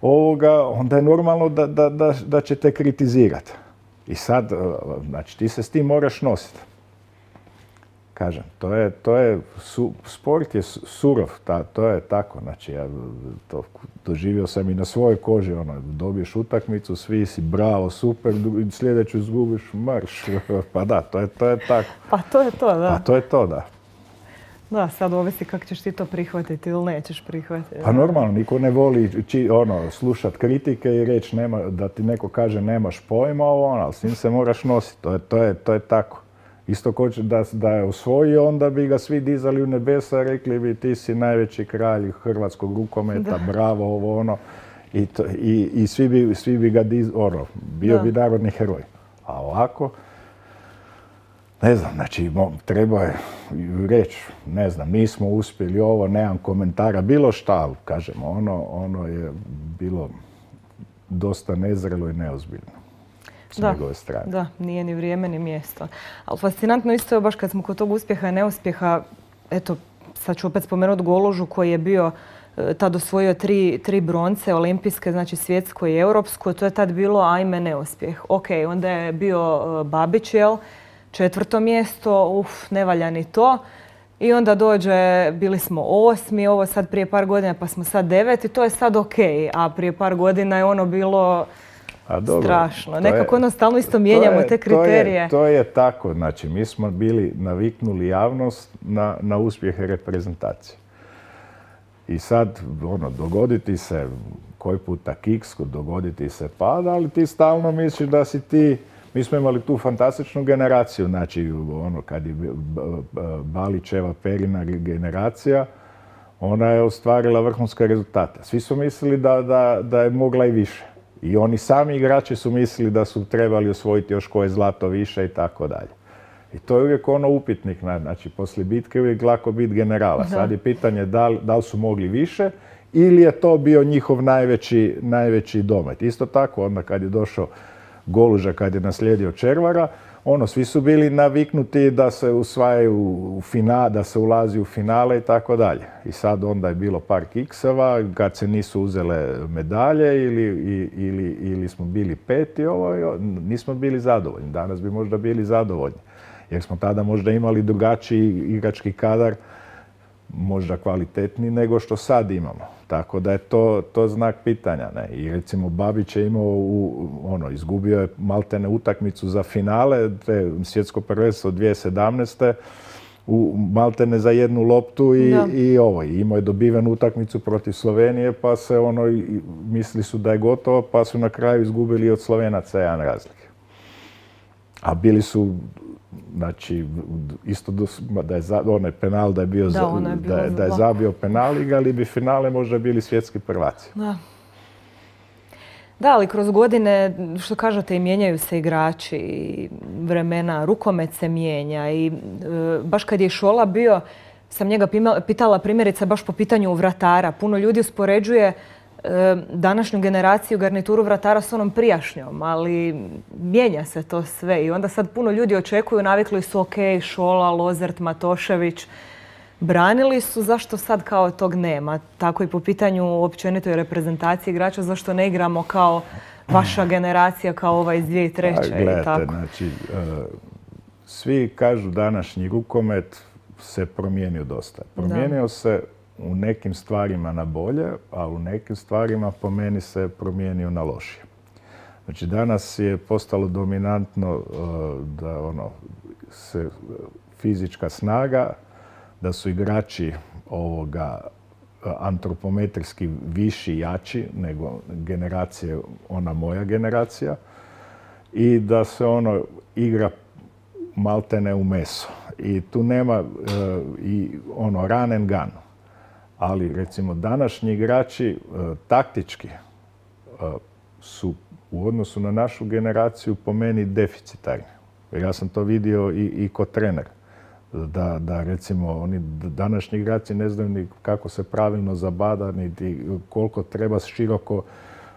ovoga, onda je normalno da, da, da, da će te kritizirati. I sad, znači ti se s tim moraš nositi. Kažem, to je, to je, su, sport je surov, ta, to je tako, znači ja to doživio sam i na svojoj koži, ono, dobiješ utakmicu, svi si bravo, super, sljedeću izgubiš, marš, pa da, to je, to je tako. Pa to je to, da. Pa to je to, da. Da, sad ovisi kako ćeš ti to prihvatiti ili nećeš prihvatiti. Pa normalno, niko ne voli či, ono, slušati kritike i reći nema, da ti neko kaže nemaš pojma, ono, ali s njim se moraš nositi, to je, to je, to je tako. Isto ko će da, da je osvojio, onda bi ga svi dizali u nebesa, rekli bi ti si najveći kralj hrvatskog rukometa, da. Bravo, ovo ono. I, to, i, i svi, bi, svi bi ga diz, ono, bio da. bi narodni heroj. A ovako, ne znam, znači treba je reći, ne znam, nismo uspjeli ovo, nemam komentara, bilo šta, ali kažemo, ono, ono je bilo dosta nezrelo i neozbiljno. Da, da, nije ni vrijeme ni mjesto. Ali fascinantno isto je baš kad smo kod tog uspjeha i neuspjeha, eto, sad ću opet spomenuti Golužu koji je bio tad osvojio tri, tri bronce olimpijske, znači svjetsko i europsko. To je tad bilo ajme neuspjeh. Ok, onda je bio Babić, jel? Četvrto mjesto, uf, ne valja ni to. I onda dođe, bili smo osmi, ovo sad prije par godina pa smo sad deveti, to je sad ok. A prije par godina je ono bilo... A dobro, strašno. Nekako ono stalno isto mijenjamo je, te kriterije. To je, to je tako. Znači, mi smo bili naviknuli javnost na, na uspjehe reprezentacije. I sad, ono, dogoditi se koji puta kiks, dogoditi se pada, ali ti stalno misliš da si ti. Mi smo imali tu fantastičnu generaciju, znači ono kad je Balićeva, Perina generacija, ona je ostvarila vrhunske rezultate. Svi su mislili da, da, da je mogla i više. I oni sami igrači su mislili da su trebali osvojiti još koje zlato više i tako dalje. I to je uvijek ono upitnik, znači poslije bitke je uvijek lako biti generala. Sad je pitanje da li, da li su mogli više ili je to bio njihov najveći, najveći domet. Isto tako onda kad je došao Goluža, kad je naslijedio Červara, ono, svi su bili naviknuti da se usvajaju u finale, da se ulazi u finale i tako dalje. I sad onda je bilo par kikseva, kad se nisu uzele medalje ili, ili, ili smo bili peti, ovo, nismo bili zadovoljni. Danas bi možda bili zadovoljni. Jer smo tada možda imali drugačiji igrački kadar, možda kvalitetniji nego što sad imamo. Tako da je to, to znak pitanja. Ne? I recimo Babić je imao, u, ono, izgubio je maltene utakmicu za finale, te svjetsko prvenstvo dvije tisuće sedamnaeste. U maltene za jednu loptu i, i ovo. I imao je dobiven utakmicu protiv Slovenije, pa se ono, misli su da je gotovo, pa su na kraju izgubili od Slovenaca jedan razlike. A bili su, znači, isto da je onaj penal da je bio, da, je, da, je, da je zabio penal, igrali bi finale, možda bili svjetski prvaci. Da. Da, ali kroz godine, što kažete, i mijenjaju se igrači, i vremena, rukomet se mijenja i e, baš kad je Šola bio, sam njega pitala primjerice baš po pitanju vratara. Puno ljudi uspoređuje e, današnju generaciju garnituru vratara s onom prijašnjom, ali mijenja se to sve i onda sad puno ljudi očekuju, navikli su ok, Šola, Lozert, Matošević, branili su, zašto sad kao tog nema? Tako i po pitanju općenitoj reprezentacije igrača, zašto ne igramo kao vaša generacija, kao ova iz dvije tisuće treće? A, gledajte, znači, svi kažu današnji rukomet se promijenio dosta. Promijenio da. se u nekim stvarima na bolje, a u nekim stvarima po meni se promijenio na lošije. Znači, danas je postalo dominantno da ono, se fizička snaga, da su igrači ovoga antropometrijski viši, jači nego generacije, ona moja generacija, i da se ono igra maltene u meso. I tu nema uh, i ono run and gun. Ali recimo današnji igrači uh, taktički uh, su u odnosu na našu generaciju po meni deficitarni. Ja sam to vidio i, i kod trenera. Da, da recimo oni današnji igrači ne znaju ni kako se pravilno zabada, niti koliko treba široko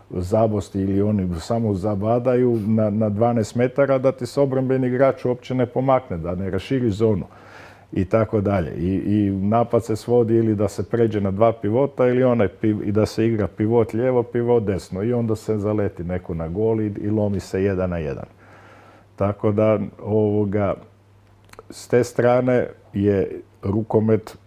zabosti, ili oni samo zabadaju na, na dvanaest metara da ti se obrambeni igrač uopće ne pomakne, da ne raširi zonu i tako dalje. I, i napad se svodi ili da se pređe na dva pivota ili onaj piv, i da se igra pivot lijevo, pivot desno i onda se zaleti neko na gol i, i lomi se jedan na jedan. Tako da ovoga, s te strane je rukomet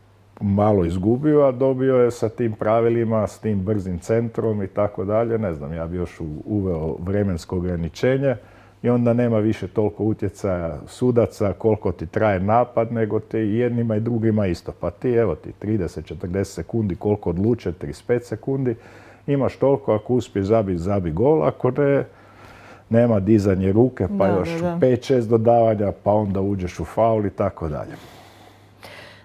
malo izgubio, a dobio je sa tim pravilima, s tim brzim centrom i tako dalje. Ne znam, ja bi još uveo vremensko ograničenje i onda nema više toliko utjecaja sudaca, koliko ti traje napad, nego ti jednima i drugima isto. Pa ti, evo ti, trideset do četrdeset sekundi, koliko odluče, trideset pet sekundi, imaš toliko, ako uspiješ zabi, zabi gol, ako ne, nema dizanje ruke, pa da, još pet šest dodavanja, pa onda uđeš u faul i tako dalje.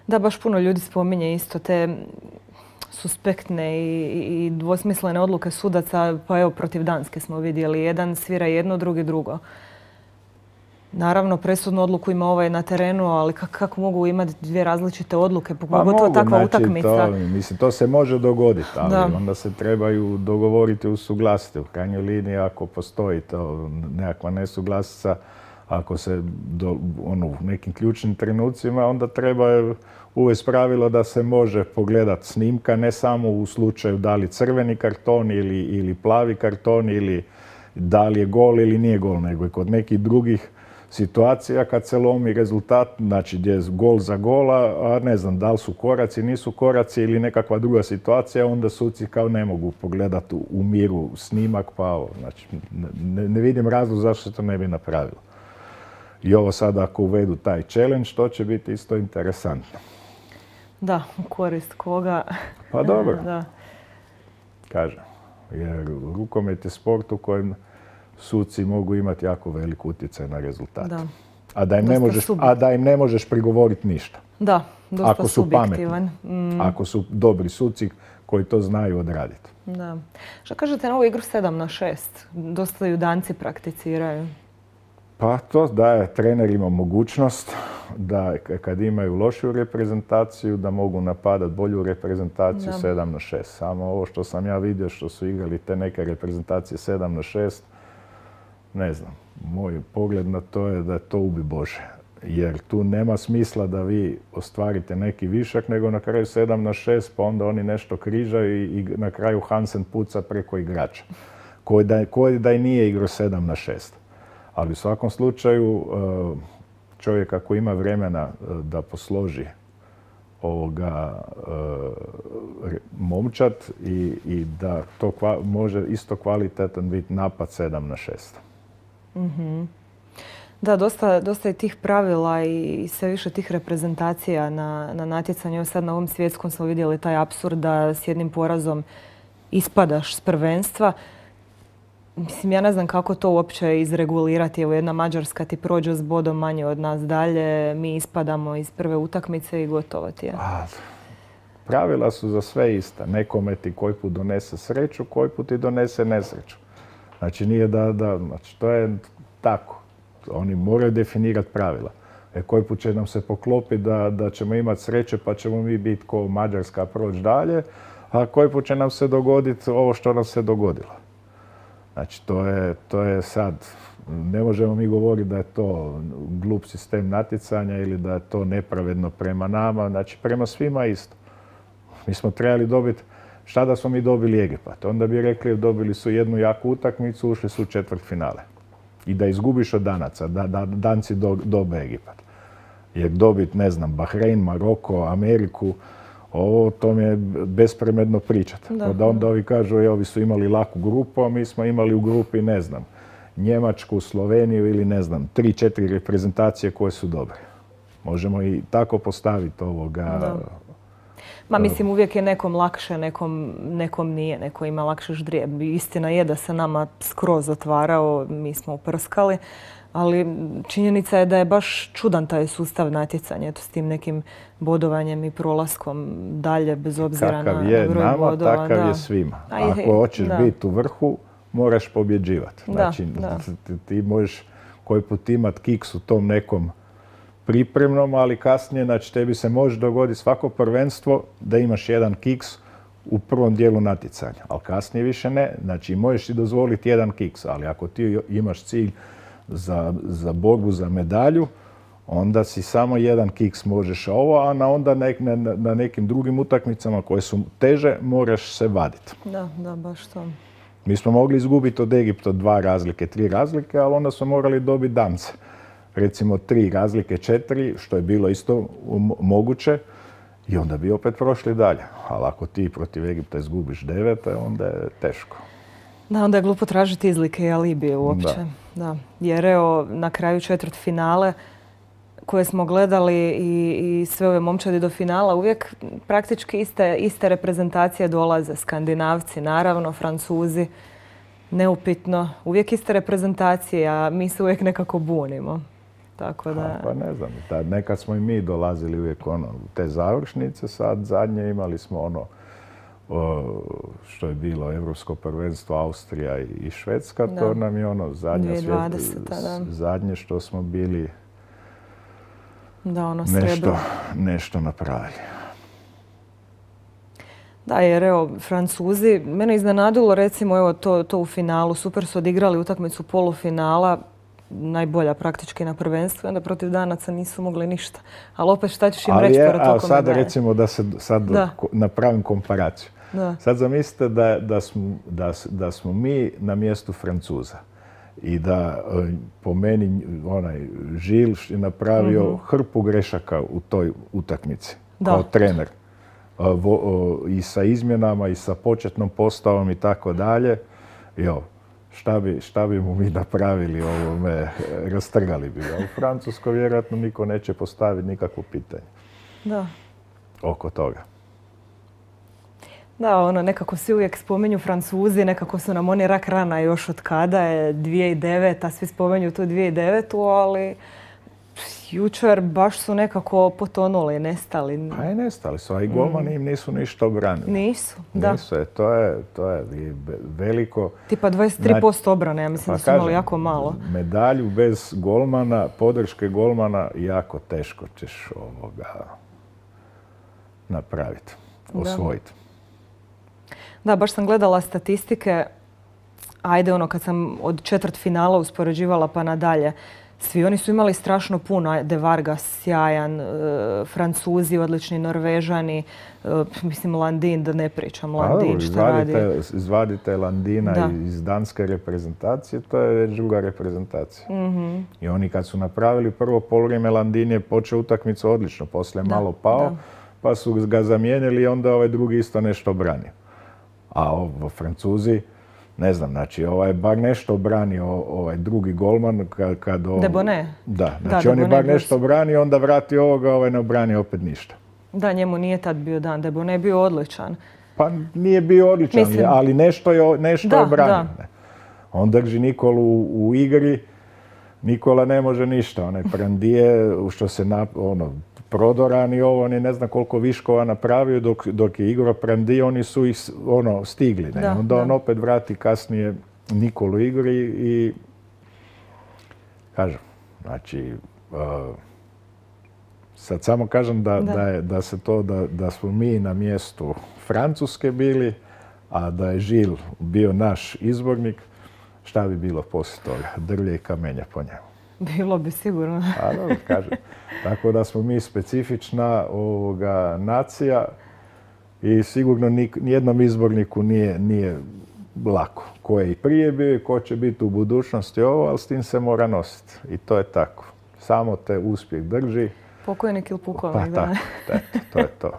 Da, baš puno ljudi spominje isto te suspektne i, i dvosmislene odluke sudaca, pa evo protiv Danske smo vidjeli. Jedan svira jedno, drugi drugo. Naravno, presudnu odluku ima ovaj na terenu, ali kako mogu imati dvije različite odluke, pogotovo pa takva znači, utakmica? To, mislim, to se može dogoditi, ali da. onda se trebaju dogovoriti, usuglasiti. U krajnjoj liniji, ako postoji to nekakva nesuglasica, ako se do, ono, u nekim ključnim trenucima, onda treba uvesti pravilo da se može pogledati snimka, ne samo u slučaju da li crveni karton ili, ili plavi karton ili da li je gol ili nije gol, nego i kod nekih drugih situacija kad se lomi rezultat, znači gdje je gol za gola, a ne znam da li su koraci, nisu koraci ili nekakva druga situacija, onda suci kao ne mogu pogledati u miru snimak, pa ovo, znači ne, ne vidim razlog zašto se to ne bi napravilo. I ovo sad ako uvedu taj challenge, to će biti isto interesantno. Da, u korist koga? Pa dobro. Da. Kažem, Jer rukomet je sport u kojem suci mogu imati jako velik utjecaj na rezultat. Da. A da im ne možeš, a da im ne možeš prigovoriti ništa. Da, dosta ako su subjektivan. Pametni, mm. ako su dobri suci koji to znaju odraditi. Da. Što kažete na ovu igru sedam na šest? Dosta ju danci prakticiraju. Pa to daje trenerima mogućnost da kad imaju lošiju reprezentaciju da mogu napadati bolju reprezentaciju da. sedam na šest. Samo ovo što sam ja vidio što su igrali te neke reprezentacije sedam na šest, ne znam, moj pogled na to je da to ubi Bože. Jer tu nema smisla da vi ostvarite neki višak, nego na kraju sedam na šest, pa onda oni nešto križaju i, i na kraju Hansen puca preko igrača. Koji da, koji da i nije igrao sedam na šest. Ali u svakom slučaju čovjek ako ima vremena da posloži ovoga momčad i, i da to kva, može isto kvalitetan biti napad sedam na šest. Mm-hmm. Da, dosta, dosta je tih pravila i sve više tih reprezentacija na, na natjecanju. Evo sad na ovom svjetskom smo vidjeli taj apsurd da s jednim porazom ispadaš s prvenstva. Mislim, ja ne znam kako to uopće izregulirati. Evo jedna Mađarska ti prođe s bodom manje od nas dalje, mi ispadamo iz prve utakmice i gotovo ti je. A, pravila su za sve ista. Nekome ti koji put donese sreću, koji put ti donese nesreću. Znači nije da, da znači to je tako. Oni moraju definirati pravila. E, koji put će nam se poklopiti da, da ćemo imati sreće pa ćemo mi biti ko Mađarska proći dalje, a koji put će nam se dogoditi ovo što nam se dogodilo. Znači, to je, to je sad, ne možemo mi govoriti da je to glup sistem natjecanja ili da je to nepravedno prema nama, znači prema svima isto. Mi smo trebali dobiti, šta da smo mi dobili Egipat? Onda bi rekli dobili su jednu jaku utakmicu, ušli su u četvrtfinale. I da izgubiš od Danaca, da, da Danci do, dobe Egipat. Jer dobiti, ne znam, Bahrein, Maroko, Ameriku, ovo to mi je bespremedno pričati. Da, da onda ovi kažu, je, ovi su imali laku grupu, a mi smo imali u grupi, ne znam, Njemačku, Sloveniju ili ne znam, tri, četiri reprezentacije koje su dobre. Možemo i tako postaviti ovoga. Da. Ma mislim, uvijek je nekom lakše, nekom, nekom nije, neko ima lakše ždrijeb. Istina je da se nama skroz otvarao, mi smo uprskali. Ali činjenica je da je baš čudan taj sustav natjecanja, eto, s tim nekim bodovanjem i prolaskom dalje, bez obzira na, na broj nama, bodova. Takav da. je svima. Aj, ako hoćeš biti u vrhu, moraš pobjeđivati. Znači, da, ti, ti možeš koji put imati kiks u tom nekom pripremnom, ali kasnije, znači, tebi se može dogoditi svako prvenstvo da imaš jedan kiks u prvom dijelu natjecanja, ali kasnije više ne. Znači, možeš si dozvoliti jedan kiks, ali ako ti imaš cilj Za, za borbu za medalju, onda si samo jedan kiks možeš ovo, a na onda nek, na, na nekim drugim utakmicama koje su teže moraš se vaditi. Da, da, baš to. Mi smo mogli izgubiti od Egipta dva razlike, tri razlike, ali onda smo morali dobiti Dance. Recimo tri razlike, četiri, što je bilo isto moguće, i onda bi opet prošli dalje. Ali ako ti protiv Egipta izgubiš devet, onda je teško. Da, onda je glupo tražiti izlike i alibije uopće. Da. Da. Jer evo, na kraju četvrtfinale koje smo gledali i, i sve ove momčadi do finala, uvijek praktički iste, iste reprezentacije dolaze. Skandinavci, naravno, Francuzi, neupitno. Uvijek iste reprezentacije, a mi se uvijek nekako bunimo. Tako da... Ha, pa ne znam, tad nekad smo i mi dolazili uvijek ono, u te završnice, sad zadnje imali smo ono O, što je bilo Europsko prvenstvo Austrija i Švedska, da. To nam je ono zadnje, zadnje što smo bili da, ono nešto, nešto napravili. Da, jer evo, Francuzi, mene iznenadilo recimo evo, to, to u finalu, super su odigrali utakmicu polufinala, najbolja praktički na prvenstvu, onda protiv Danaca nisu mogli ništa. Ali opet šta ćeš im reći pored toliko sada recimo da se sad da. napravim komparaciju. Da. Sad zamislite da, da, smo, da, da smo mi na mjestu Francuza i da po meni onaj Žil je napravio mm-hmm. hrpu grešaka u toj utakmici da. Kao trener. I sa izmjenama i sa početnom postavom i tako dalje. Jo. Šta bi, šta bi mu mi napravili ovome, rastrgali bi ga. U Francuskoj vjerojatno niko neće postaviti nikakvo pitanje. Da. Oko toga. Da, ono, nekako svi uvijek spominju Francuzi, nekako su nam oni rak rana još od kada je dvije tisuće deveta, svi spominju tu dvije tisuće devetu, ali jučer baš su nekako potonuli, nestali. Pa i nestali su, a i golmani im nisu ništa obranili. Nisu, da. Nisu, je, to je, to je veliko. Tipa dvadeset tri posto obrane, ja mislim pa da su imali kažem, jako malo. Medalju bez golmana, podrške golmana, jako teško ćeš ovoga napraviti, osvojiti. Da, baš sam gledala statistike, ajde ono kad sam od četvrt finala uspoređivala pa nadalje, svi oni su imali strašno puno, De Vargas sjajan, e, Francuzi odlični, Norvežani, e, mislim Landin, da ne pričam, Landin šta radi. Izvadite Landina da. iz danske reprezentacije, to je već druga reprezentacija. Mm-hmm. I oni kad su napravili prvo poluvrijeme, Landin je počeo utakmicu odlično, poslije da. malo pao, da. pa su ga zamijenili i onda ovaj drugi isto nešto branio. A ovo Francuzi, ne znam, znači ovaj je bar nešto branio ovaj drugi golman kad... kad ovo, Debone. Da, znači da, on je bar nešto branio, onda vrati ovoga, ovaj ne obranio opet ništa. Da, njemu nije tad bio dan, Debone je bio odličan. Pa nije bio odličan, Mislim... ali nešto je, nešto da, je branio. Da. On drži Nikolu u, u igri, Nikola ne može ništa, onaj Prandije, što se na, ono, prodoran i ovo, on je ne znam koliko viškova napravio dok, dok je igrao Prandije, oni su ih ono, stigli. Ne? Da, Onda da. on opet vrati kasnije Nikolu igri i kažem, znači uh, sad samo kažem da, da. Da, je, da se to, da, da smo mi na mjestu Francuske bili, a da je Žil bio naš izbornik, šta bi bilo poslije toga? Drvlje i kamenja po njemu. Bilo bi sigurno. A, dobro, kažem. Tako da smo mi specifična ovoga nacija i sigurno nijednom izborniku nije, nije lako. Ko je i prije bio i ko će biti u budućnosti ovo, ali s tim se mora nositi. I to je tako. Samo te uspjeh drži. Pokojnik ili pukovnik, pa, da. Eto, to je to.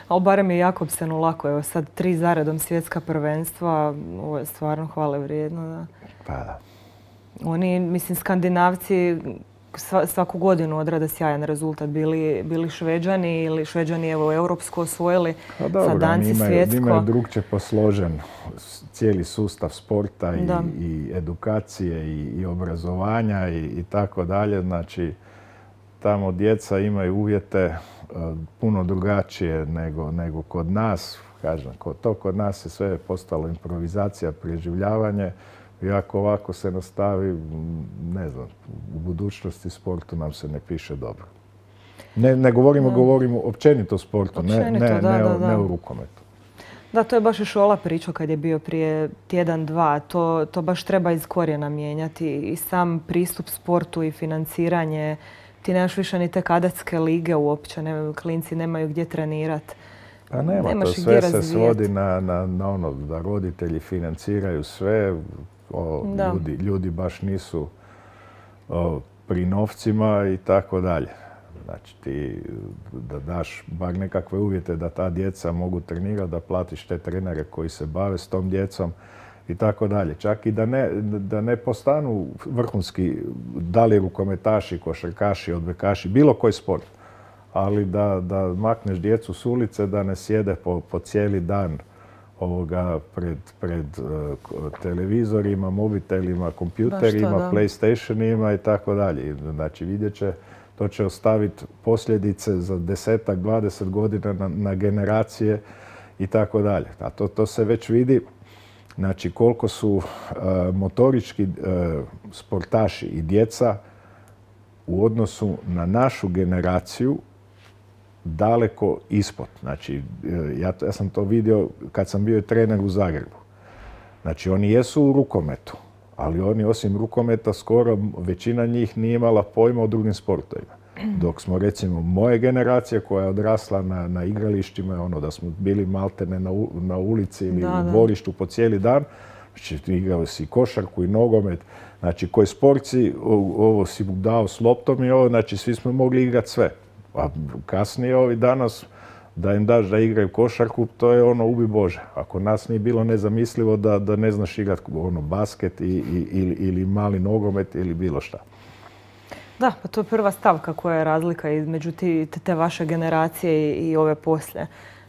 Ali barem je Jakobsenu lako. Evo sad tri zaredom svjetska prvenstva. Ovo je stvarno hvale vrijedno. Da. Pa da. Oni, mislim, Skandinavci svaku godinu odrade sjajan rezultat. Bili, bili Šveđani ili Šveđani evo europsko osvojili, pa dobro, sa Danci imaju, svjetsko. Imaju drugčije posložen cijeli sustav sporta i, i edukacije i, i obrazovanja i, i tako dalje. Znači, tamo djeca imaju uvjete uh, puno drugačije nego, nego kod nas. Kažem, to kod nas je sve postalo improvizacija, preživljavanje. I ako ovako se nastavi, ne znam, u budućnosti sportu nam se ne piše dobro. Ne, ne govorimo, da. govorimo općenito o sportu, općenito, ne, ne, da, ne, da, da. ne u rukometu. Da, to je baš i Šola pričao kad je bio prije tjedan, dva. To, to baš treba iz korijena mijenjati. I sam pristup sportu i financiranje. Ti nemaš više ni te kadetske lige uopće, ne, klinci nemaju gdje trenirati. Pa nema, Nemaš to sve se svodi na, na, na ono da roditelji financiraju sve. O, ljudi, ljudi baš nisu o, pri novcima i tako dalje. Znači ti da daš bar nekakve uvjete da ta djeca mogu trenirati, da platiš te trenere koji se bave s tom djecom i tako dalje. Čak i da ne, da ne postanu vrhunski da li rukometaši, košarkaši, odbojkaši, bilo koji sport. Ali da, da makneš djecu s ulice, da ne sjede po, po cijeli dan ovoga pred, pred uh, televizorima, mobitelima, kompjuterima, da, PlayStationima i tako dalje. Znači vidjet će, to će ostaviti posljedice za desetak, dvadeset godina na, na generacije i tako dalje. A to, to se već vidi, znači koliko su uh, motorički uh, sportaši i djeca u odnosu na našu generaciju daleko ispod. Znači, ja, ja sam to vidio kad sam bio trener u Zagrebu. Znači, oni jesu u rukometu, ali oni osim rukometa skoro većina njih nije imala pojma o drugim sportovima. Dok smo, recimo, moje generacije koja je odrasla na, na igralištima, ono da smo bili maltene na, u, na ulici ili da, u dvorištu po cijeli dan, znači, igrali si košarku i nogomet, znači, koji sportci, ovo si dao s loptom i ovo, znači, svi smo mogli igrati sve. A kasnije ovi danas da im daš da igraju košarku, to je ono ubi Bože. Ako nas nije bilo nezamislivo da, da ne znaš igrati ono basket i, i, ili, ili mali nogomet ili bilo šta. Da, pa to je prva stavka koja je razlika između te, te vaše generacije i, i ove poslije.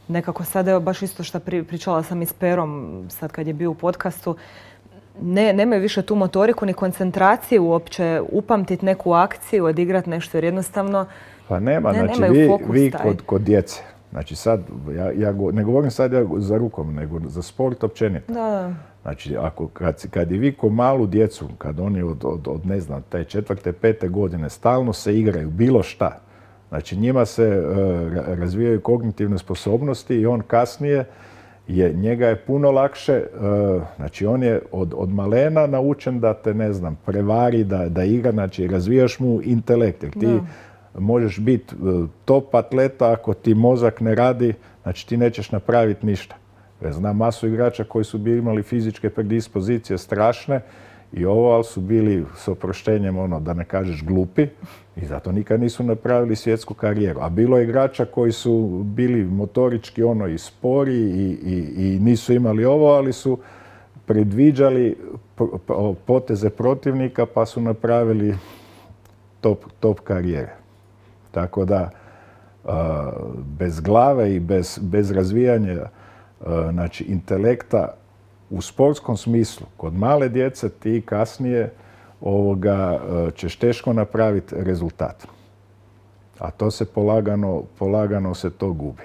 nekako sad, evo baš isto što pričala sam i s Perom sad kad je bio u podcastu, ne, nemaju više tu motoriku ni koncentraciju uopće upamtiti neku akciju, odigrati nešto jer jednostavno pa nema, ne, znači nemaju vi, fokus vi taj. kod, kod djece, znači sad, ja, ja go, ne govorim sad ja za rukom, nego za sport općenito. Da. Znači, ako, kad, kad i vi ko malu djecu, kad oni od, od, od ne znam, te četvrte, pete godine stalno se igraju, bilo šta, znači njima se uh, razvijaju kognitivne sposobnosti i on kasnije, je, njega je puno lakše, uh, znači on je od, od malena naučen da te, ne znam, prevari, da, da igra, znači razvijaš mu intelekt, jer ti da. možeš biti uh, top atleta ako ti mozak ne radi, znači ti nećeš napraviti ništa. Ja znam masu igrača koji su bili imali fizičke predispozicije strašne i ovo, ali su bili s oproštenjem, ono, da ne kažeš glupi i zato nikad nisu napravili svjetsku karijeru. A bilo je igrača koji su bili motorički ono i spori i, i, i nisu imali ovo, ali su predviđali poteze protivnika pa su napravili top, top karijere. Tako da uh, bez glave i bez, bez razvijanja znači intelekta u sportskom smislu, kod male djece ti kasnije ovoga, ćeš teško napraviti rezultat. A to se polagano, polagano se to gubi.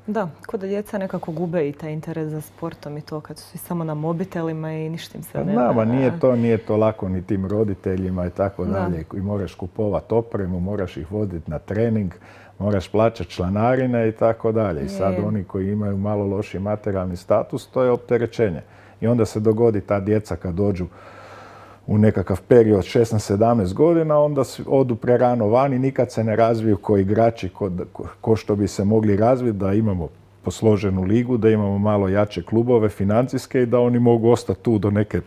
Da, kod da djeca nekako gube i taj interes za sportom i to kad su svi samo na mobitelima i ništa im se ne... Nama nije to, nije to lako ni tim roditeljima i tako dalje. I moraš kupovati opremu, moraš ih voditi na trening, moraš plaćati članarine i tako dalje. I sad oni koji imaju malo loši materijalni status, to je opterećenje. I onda se dogodi ta djeca kad dođu u nekakav period šesnaest sedamnaest godina, onda odu prerano van i nikad se ne razviju ko igrači, ko, ko što bi se mogli razviti, da imamo posloženu ligu, da imamo malo jače klubove financijske i da oni mogu ostati tu do neke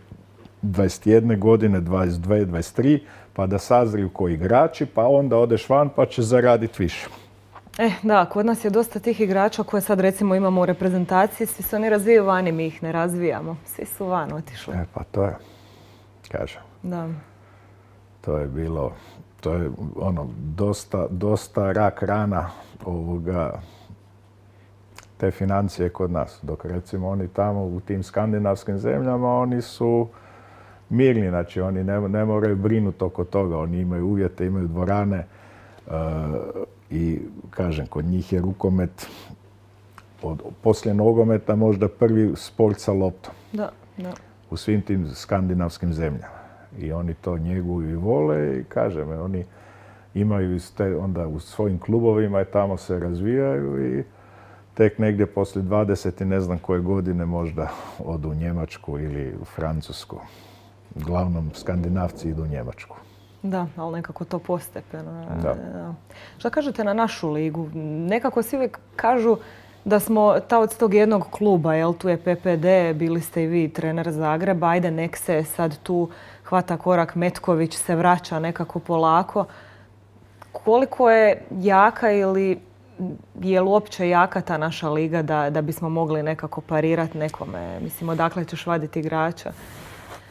dvadeset jedne godine, dvadeset dvije, dvadeset tri, pa da sazriju ko igrači, pa onda odeš van pa će zaraditi više. E, da, kod nas je dosta tih igrača koje sad recimo imamo u reprezentaciji, svi se oni razvijaju vani, mi ih ne razvijamo. Svi su van otišli. E, pa to je, kažem. Da. To je bilo, to je ono, dosta, dosta rak rana ovoga, te financije kod nas. Dok recimo oni tamo u tim skandinavskim zemljama, oni su mirni, znači oni ne, ne moraju brinuti oko toga. Oni imaju uvjete, imaju dvorane uh, i kažem, kod njih je rukomet od, poslije nogometa možda prvi sport sa loptom. Da, da. U svim tim skandinavskim zemljama. I oni to njeguju i vole i kažem, oni imaju te, onda u svojim klubovima i tamo se razvijaju i tek negdje poslije dvadeset i ne znam koje godine možda odu u Njemačku ili u Francusku. Uglavnom Skandinavci idu u Njemačku. Da, ali nekako to postepeno. Da. Šta kažete na našu ligu? Nekako svi uvijek kažu da smo taoc tog jednog kluba, jel? Tu je P P D, bili ste i vi trener Zagreba, ajde nek se sad tu hvata korak, Metković se vraća nekako polako. Koliko je jaka ili je li uopće jaka ta naša liga da, da bismo mogli nekako parirati nekome? Mislim, odakle ćeš vaditi igrača?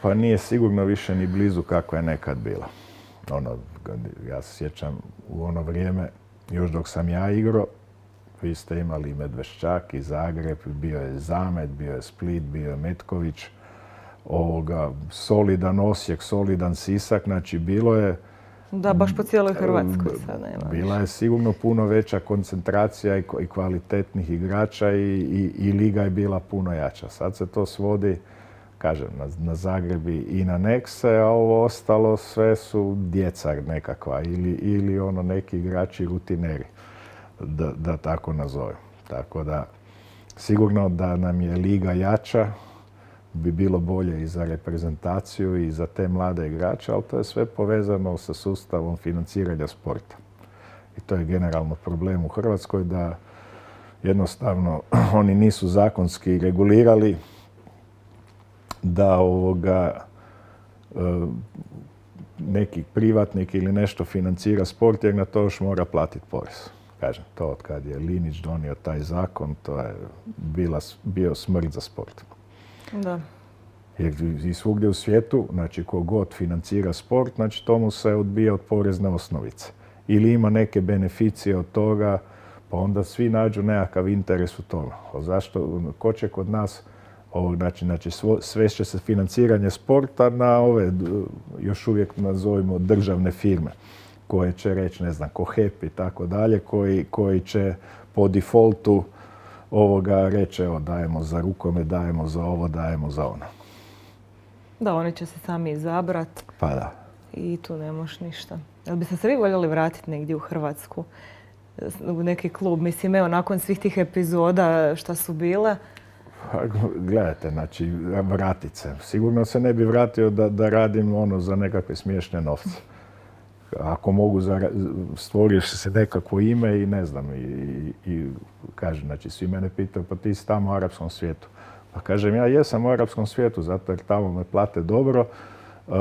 Pa nije sigurno više ni blizu kako je nekad bila. Ono, ja se sjećam u ono vrijeme, još dok sam ja igrao, vi ste imali Medveščak i Zagreb, bio je Zamet, bio je Split, bio je Metković, ovoga, solidan Osijek, solidan Sisak, znači bilo je... Da, baš po cijeloj Hrvatskoj sad nema. Bila je sigurno puno veća koncentracija i kvalitetnih igrača i, i, i liga je bila puno jača. Sad se to svodi, kažem, na, na Zagreb i na Nexe, a ovo ostalo sve su djeca nekakva ili, ili ono neki igrači rutineri, da, da tako nazovem. Tako da sigurno da nam je liga jača, bi bilo bolje i za reprezentaciju i za te mlade igrače, ali to je sve povezano sa sustavom financiranja sporta. I to je generalno problem u Hrvatskoj da jednostavno oni nisu zakonski regulirali da ovoga neki privatnik ili nešto financira sport jer na to još mora platiti porez. Kažem, to od kad je Linić donio taj zakon, to je bila, bio smrt za sport. Da. Jer i svugdje u svijetu, znači ko god financira sport, znači tomu se odbija od porezne osnovice. Ili ima neke beneficije od toga, Pa onda svi nađu nekakav interes u tome. Zašto? Ko će kod nas, ovog, znači, znači svešće se financiranje sporta na ove, još uvijek nazovimo državne firme, koje će reći, ne znam, ko H E P i tako dalje, koji, koji će po defaultu ovoga reći, evo, dajemo za rukomet, dajemo za ovo, dajemo za ono. Da, oni će se sami izabrati. Pa da. I tu ne možeš ništa. Jel biste se vi voljeli vratiti negdje u Hrvatsku? U neki klub? Mislim, evo, nakon svih tih epizoda šta su bile? Gledajte, znači, vratit se. Sigurno se ne bi vratio da, da radim ono za nekakve smiješne novce. Ako mogu, stvoriš se nekakvo ime i ne znam, i, i kažem, znači, svi mene pitaju, pa ti si tamo u arapskom svijetu. Pa kažem, ja jesam u arapskom svijetu, zato jer tamo me plate dobro, uh,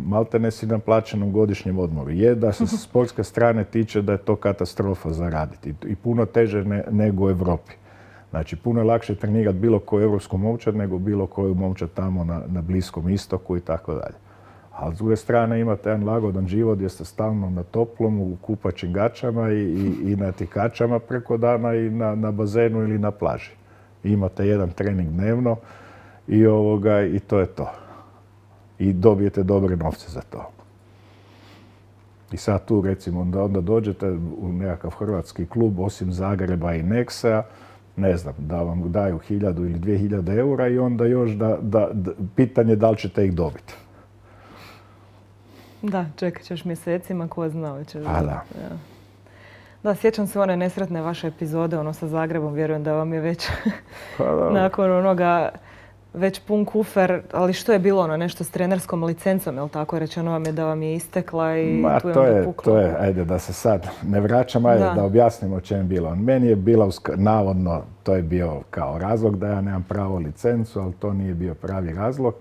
malte ne si na plaćenom godišnjem odmoru. Je da se s sportske strane tiče da je to katastrofa za raditi i puno teže ne, nego u Europi. Znači, puno je lakše trenirati bilo koju europsku momčad nego bilo koju momčad tamo na, na Bliskom istoku i tako dalje. A s druge strane imate jedan lagodan život gdje ste stalno na toplom, u kupaćim gačama i, i, i na tikačama preko dana i na, na bazenu ili na plaži. Imate jedan trening dnevno i, ovoga, i to je to. I dobijete dobre novce za to. I sad tu recimo onda, onda dođete u nekakav hrvatski klub osim Zagreba i Nexa, ne znam, da vam daju hiljadu ili dvije hiljade eura i onda još da, da, da, pitanje da li ćete ih dobiti. Da, čekat ćeš mjesecima, ko zna ćeš. A da. Ja. Da, sjećam se one nesretne vaše epizode, ono sa Zagrebom, vjerujem da vam je već nakon onoga već pun kufer, ali što je bilo ono, nešto s trenerskom licencom, je li tako? Rečeno vam je da vam je istekla i Ma, tu je to onda je, puklo. to je, ajde da se sad ne vraćam, ajde da, da objasnimo o čem je bilo. Meni je bila, navodno, to je bio kao razlog da ja nemam pravo licencu, ali to nije bio pravi razlog.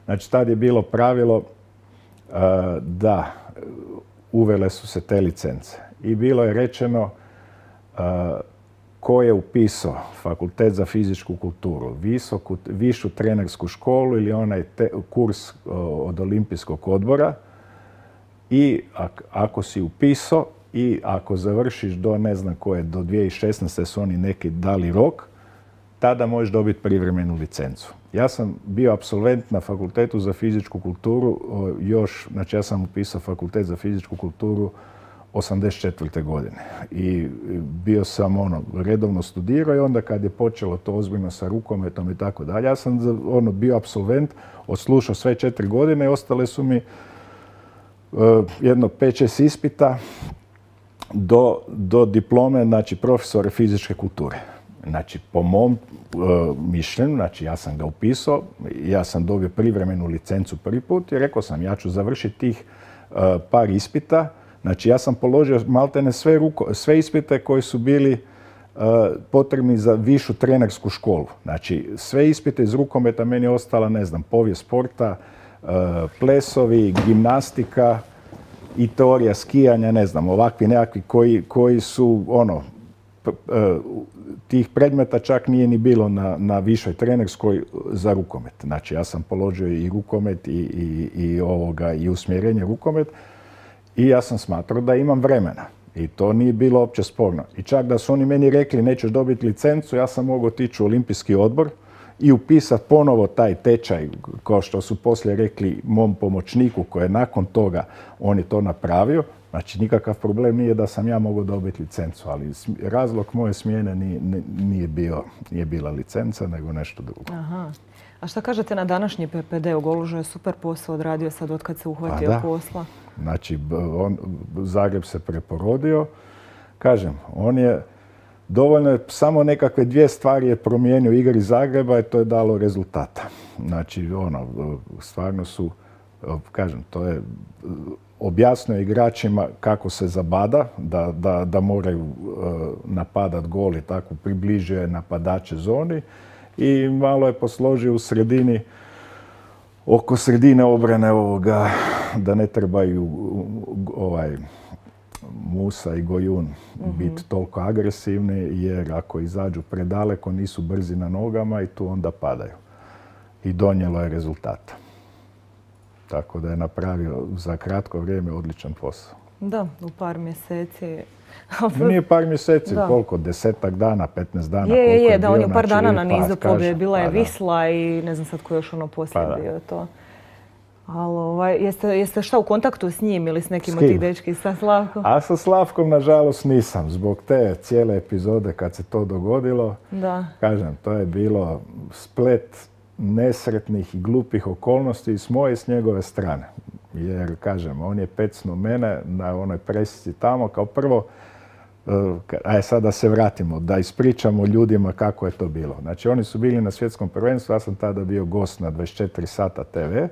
Znači, tad je bilo pravilo uh, da uvele su se te licence. I bilo je rečeno uh, ko je upisao fakultet za fizičku kulturu, visoku, višu trenersku školu ili onaj te, kurs uh, od olimpijskog odbora i ak, ako si upisao i ako završiš do ne znam koje, do dvije tisuće šesnaeste su oni neki dali rok, tada možeš dobiti privremenu licencu. Ja sam bio apsolvent na fakultetu za fizičku kulturu, još, znači ja sam upisao fakultet za fizičku kulturu osamdeset četvrte godine. I bio sam ono, redovno studirao i onda kad je počelo to ozbiljno sa rukometom i tako dalje, ja sam ono, bio apsolvent, odslušao sve četiri godine i ostale su mi uh, jedno pet šest ispita do, do diplome, znači profesora fizičke kulture. Znači, po mom uh, mišljenju, znači ja sam ga upisao, ja sam dobio privremenu licencu prvi put i rekao sam ja ću završiti tih uh, par ispita. Znači, ja sam položio maltene sve, ruko, sve ispite koji su bili uh, potrebni za višu trenersku školu. Znači, sve ispite iz rukometa meni je ostala, ne znam, povijest sporta, uh, plesovi, gimnastika i teorija skijanja, ne znam, ovakvi nekakvi koji, koji su, ono, p, uh, tih predmeta čak nije ni bilo na, na višoj trenerskoj za rukomet. Znači, ja sam položio i rukomet i, i, i, ovoga, i usmjerenje rukomet. I ja sam smatrao da imam vremena. I to nije bilo uopće sporno. I čak da su oni meni rekli nećeš dobiti licencu, ja sam mogao otići u olimpijski odbor i upisati ponovo taj tečaj, kao što su poslije rekli mom pomoćniku koji je nakon toga on je to napravio. Znači, nikakav problem nije da sam ja mogao dobiti licencu, ali razlog moje smjene nije, nije, bio, nije bila licenca, nego nešto drugo. Aha. A šta kažete na današnji P P D? U Golužu je super posao odradio sad otkad se uhvatio da. posla. Znači, on, Zagreb se preporodio. Kažem, on je dovoljno je samo nekakve dvije stvari je promijenio u igri Zagreba i to je dalo rezultata. Znači, ono, stvarno su, kažem, to je objasnio igračima kako se zabada, da, da, da moraju napadat gol i tako približio je napadače zoni i malo je posložio u sredini, oko sredine obrane ovoga, da ne trebaju ovaj, Musa i Gojun mm-hmm. biti toliko agresivni, jer ako izađu predaleko nisu brzi na nogama i tu onda padaju. I donijelo je rezultata. Tako da je napravio za kratko vrijeme odličan posao. Da, u par mjeseci. Nije par mjeseci, da. Koliko? Desetak dana, petnaest dana? Je, je, je, da, bio, on je par znači, dana na nizu pa, pobjede. Bila je pa, Visla i ne znam sad ko još ono poslije pa, bio to. Ali ovaj, jeste, jeste šta u kontaktu s njim ili s nekim od tih dečki, sa Slavkom? A sa Slavkom, nažalost, nisam. Zbog te cijele epizode kad se to dogodilo, da. Kažem, to je bilo splet nesretnih i glupih okolnosti s moje i s njegove strane. Jer, kažem, on je pecnuo mene na onoj presici tamo. Kao prvo, aj sad da se vratimo, da ispričamo ljudima kako je to bilo. Znači, oni su bili na svjetskom prvenstvu, ja sam tada bio gost na dvadeset četiri sata te ve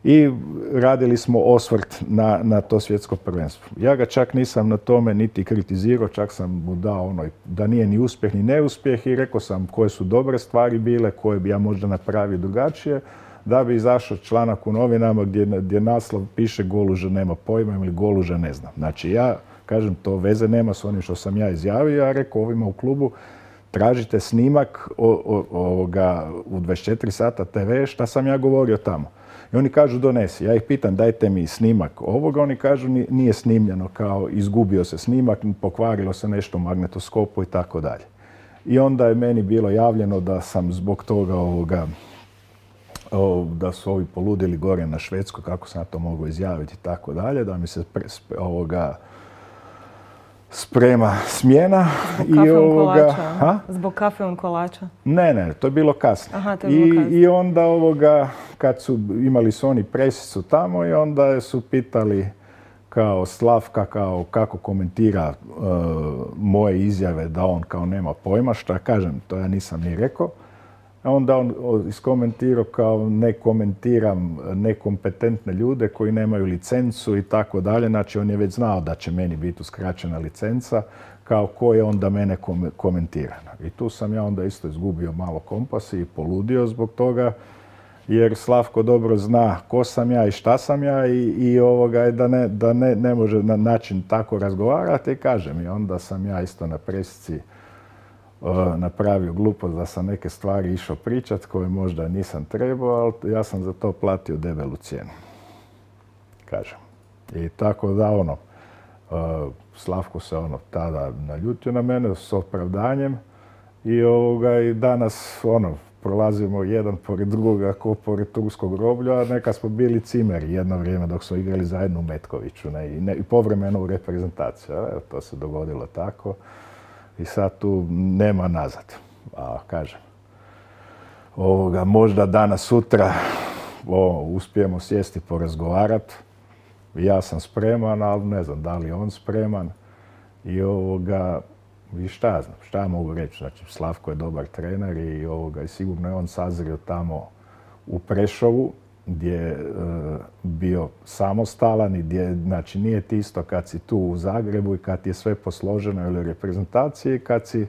i radili smo osvrt na, na to svjetsko prvenstvo. Ja ga čak nisam na tome niti kritizirao, čak sam mu dao ono da nije ni uspjeh ni neuspjeh i rekao sam koje su dobre stvari bile, koje bi ja možda napravio drugačije, da bi izašao članak u novinama gdje, gdje naslov piše Goluža nema pojma ili Goluža ne znam. Znači ja, kažem, to veze nema s onim što sam ja izjavio, ja rekao ovima u klubu tražite snimak o, o, ovoga, u dvadeset četiri sata te ve, šta sam ja govorio tamo. I oni kažu donesi. Ja ih pitam dajte mi snimak ovoga, oni kažu nije snimljeno, kao izgubio se snimak, pokvarilo se nešto u magnetoskopu i tako dalje. I onda je meni bilo javljeno da sam zbog toga ovoga, o, da su ovi poludili gore na Švedskoj, kako sam ja to mogu izjaviti i tako dalje, da mi se pre, ovoga sprema smjena. Zbog kafe on kolača? Zbog kafe on kolača? Ne, ne, to je bilo kasno. Aha, to je bilo kasno. I, I onda ovoga, kad su imali su oni presicu tamo i onda su pitali kao Slavka kao kako komentira uh, moje izjave da on kao nema pojma, šta kažem, to ja nisam ni rekao. A onda on iskomentirao kao ne komentiram nekompetentne ljude koji nemaju licencu i tako dalje. Znači on je već znao da će meni biti uskraćena licenca, kao ko je onda mene komentira. I tu sam ja onda isto izgubio malo kompas i poludio zbog toga, jer Slavko dobro zna ko sam ja i šta sam ja i, i ovoga, da, ne, da ne, ne može na način tako razgovarati i kažem. I onda sam ja isto na presici napravio glupost da sam neke stvari išao pričat koje možda nisam trebao, ali ja sam za to platio debelu cijenu. Kažem. I tako da ono, Slavko se ono tada naljutio na mene s opravdanjem i ovoga i danas ono prolazimo jedan pored drugoga ko pored turskog groblja, a neka smo bili cimeri jedno vrijeme dok smo igrali zajedno u Metkoviću ne, i, ne, i povremeno u reprezentaciju. Evo, to se dogodilo tako. I sad tu nema nazad. A kažem, ovoga, možda danas, sutra o, uspijemo sjesti porazgovarati. Ja sam spreman, ali ne znam da li je on spreman. I ovoga, i šta ja znam, šta ja mogu reći. Znači, Slavko je dobar trener i, ovoga, i sigurno je on sazrio tamo u Prešovu, gdje je e, bio samostalan i gdje, znači, nije ti isto kad si tu u Zagrebu i kad ti je sve posloženo ili reprezentaciji, kad si,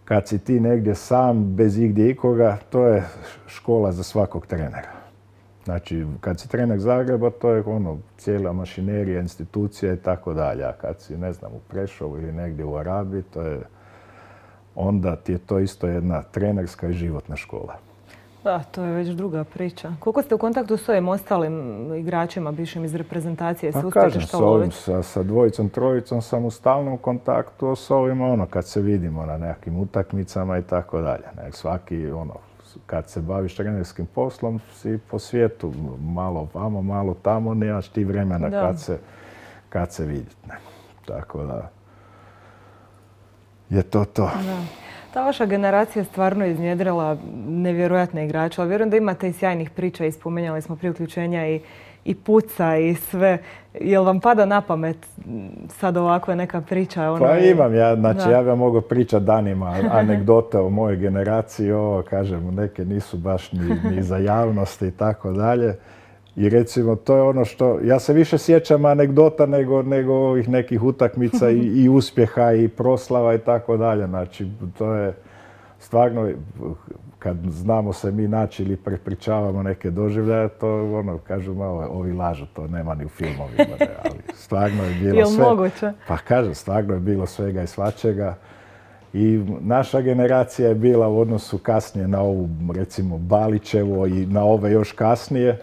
kad si ti negdje sam, bez igdje ikoga, to je škola za svakog trenera. Znači, kad si trener Zagreba, to je ono, cijela mašinerija, institucija i tako dalje. A kad si, ne znam, u Prešovu ili negdje u Arabiji, to je, onda ti je to isto jedna trenerska i životna škola. Da, to je već druga priča. Koliko ste u kontaktu s ovim ostalim igračima, bivšim iz reprezentacije? Pa kažem, s ovim, sa, sa dvojicom, trojicom sam u stalnom kontaktu, a s ovima ono, kad se vidimo na nekakvim utakmicama i tako dalje. Svaki, ono, kad se baviš trenerskim poslom, si po svijetu, malo vamo, malo tamo, nemaš ti vremena kad se, kad se vidjeti. Tako da je to to. Da. Ta vaša generacija je stvarno iznjedrila nevjerojatne igrače, ali vjerujem da imate i sjajnih priča i spomenjali smo prije uključenja i, i puca i sve. Jel vam pada na pamet sad ovakva neka priča? Ono pa imam ja, znači da. Ja bih mogao pričati danima anegdote o mojoj generaciji, ovo kažem, neke nisu baš ni, ni za javnost i tako dalje. I recimo, to je ono što, ja se više sjećam anegdota nego, nego ovih nekih utakmica i, i uspjeha i proslava i tako dalje. Znači, to je stvarno, kad znamo se mi naći ili prepričavamo neke doživljaje, to ono, kažu malo, ovi lažu, to nema ni u filmovima, ne, ali stvarno je bilo Jel sve. Moguće? Pa kažem, stvarno je bilo svega i svačega. I naša generacija je bila u odnosu kasnije na ovu, recimo, Balićevo i na ove još kasnije,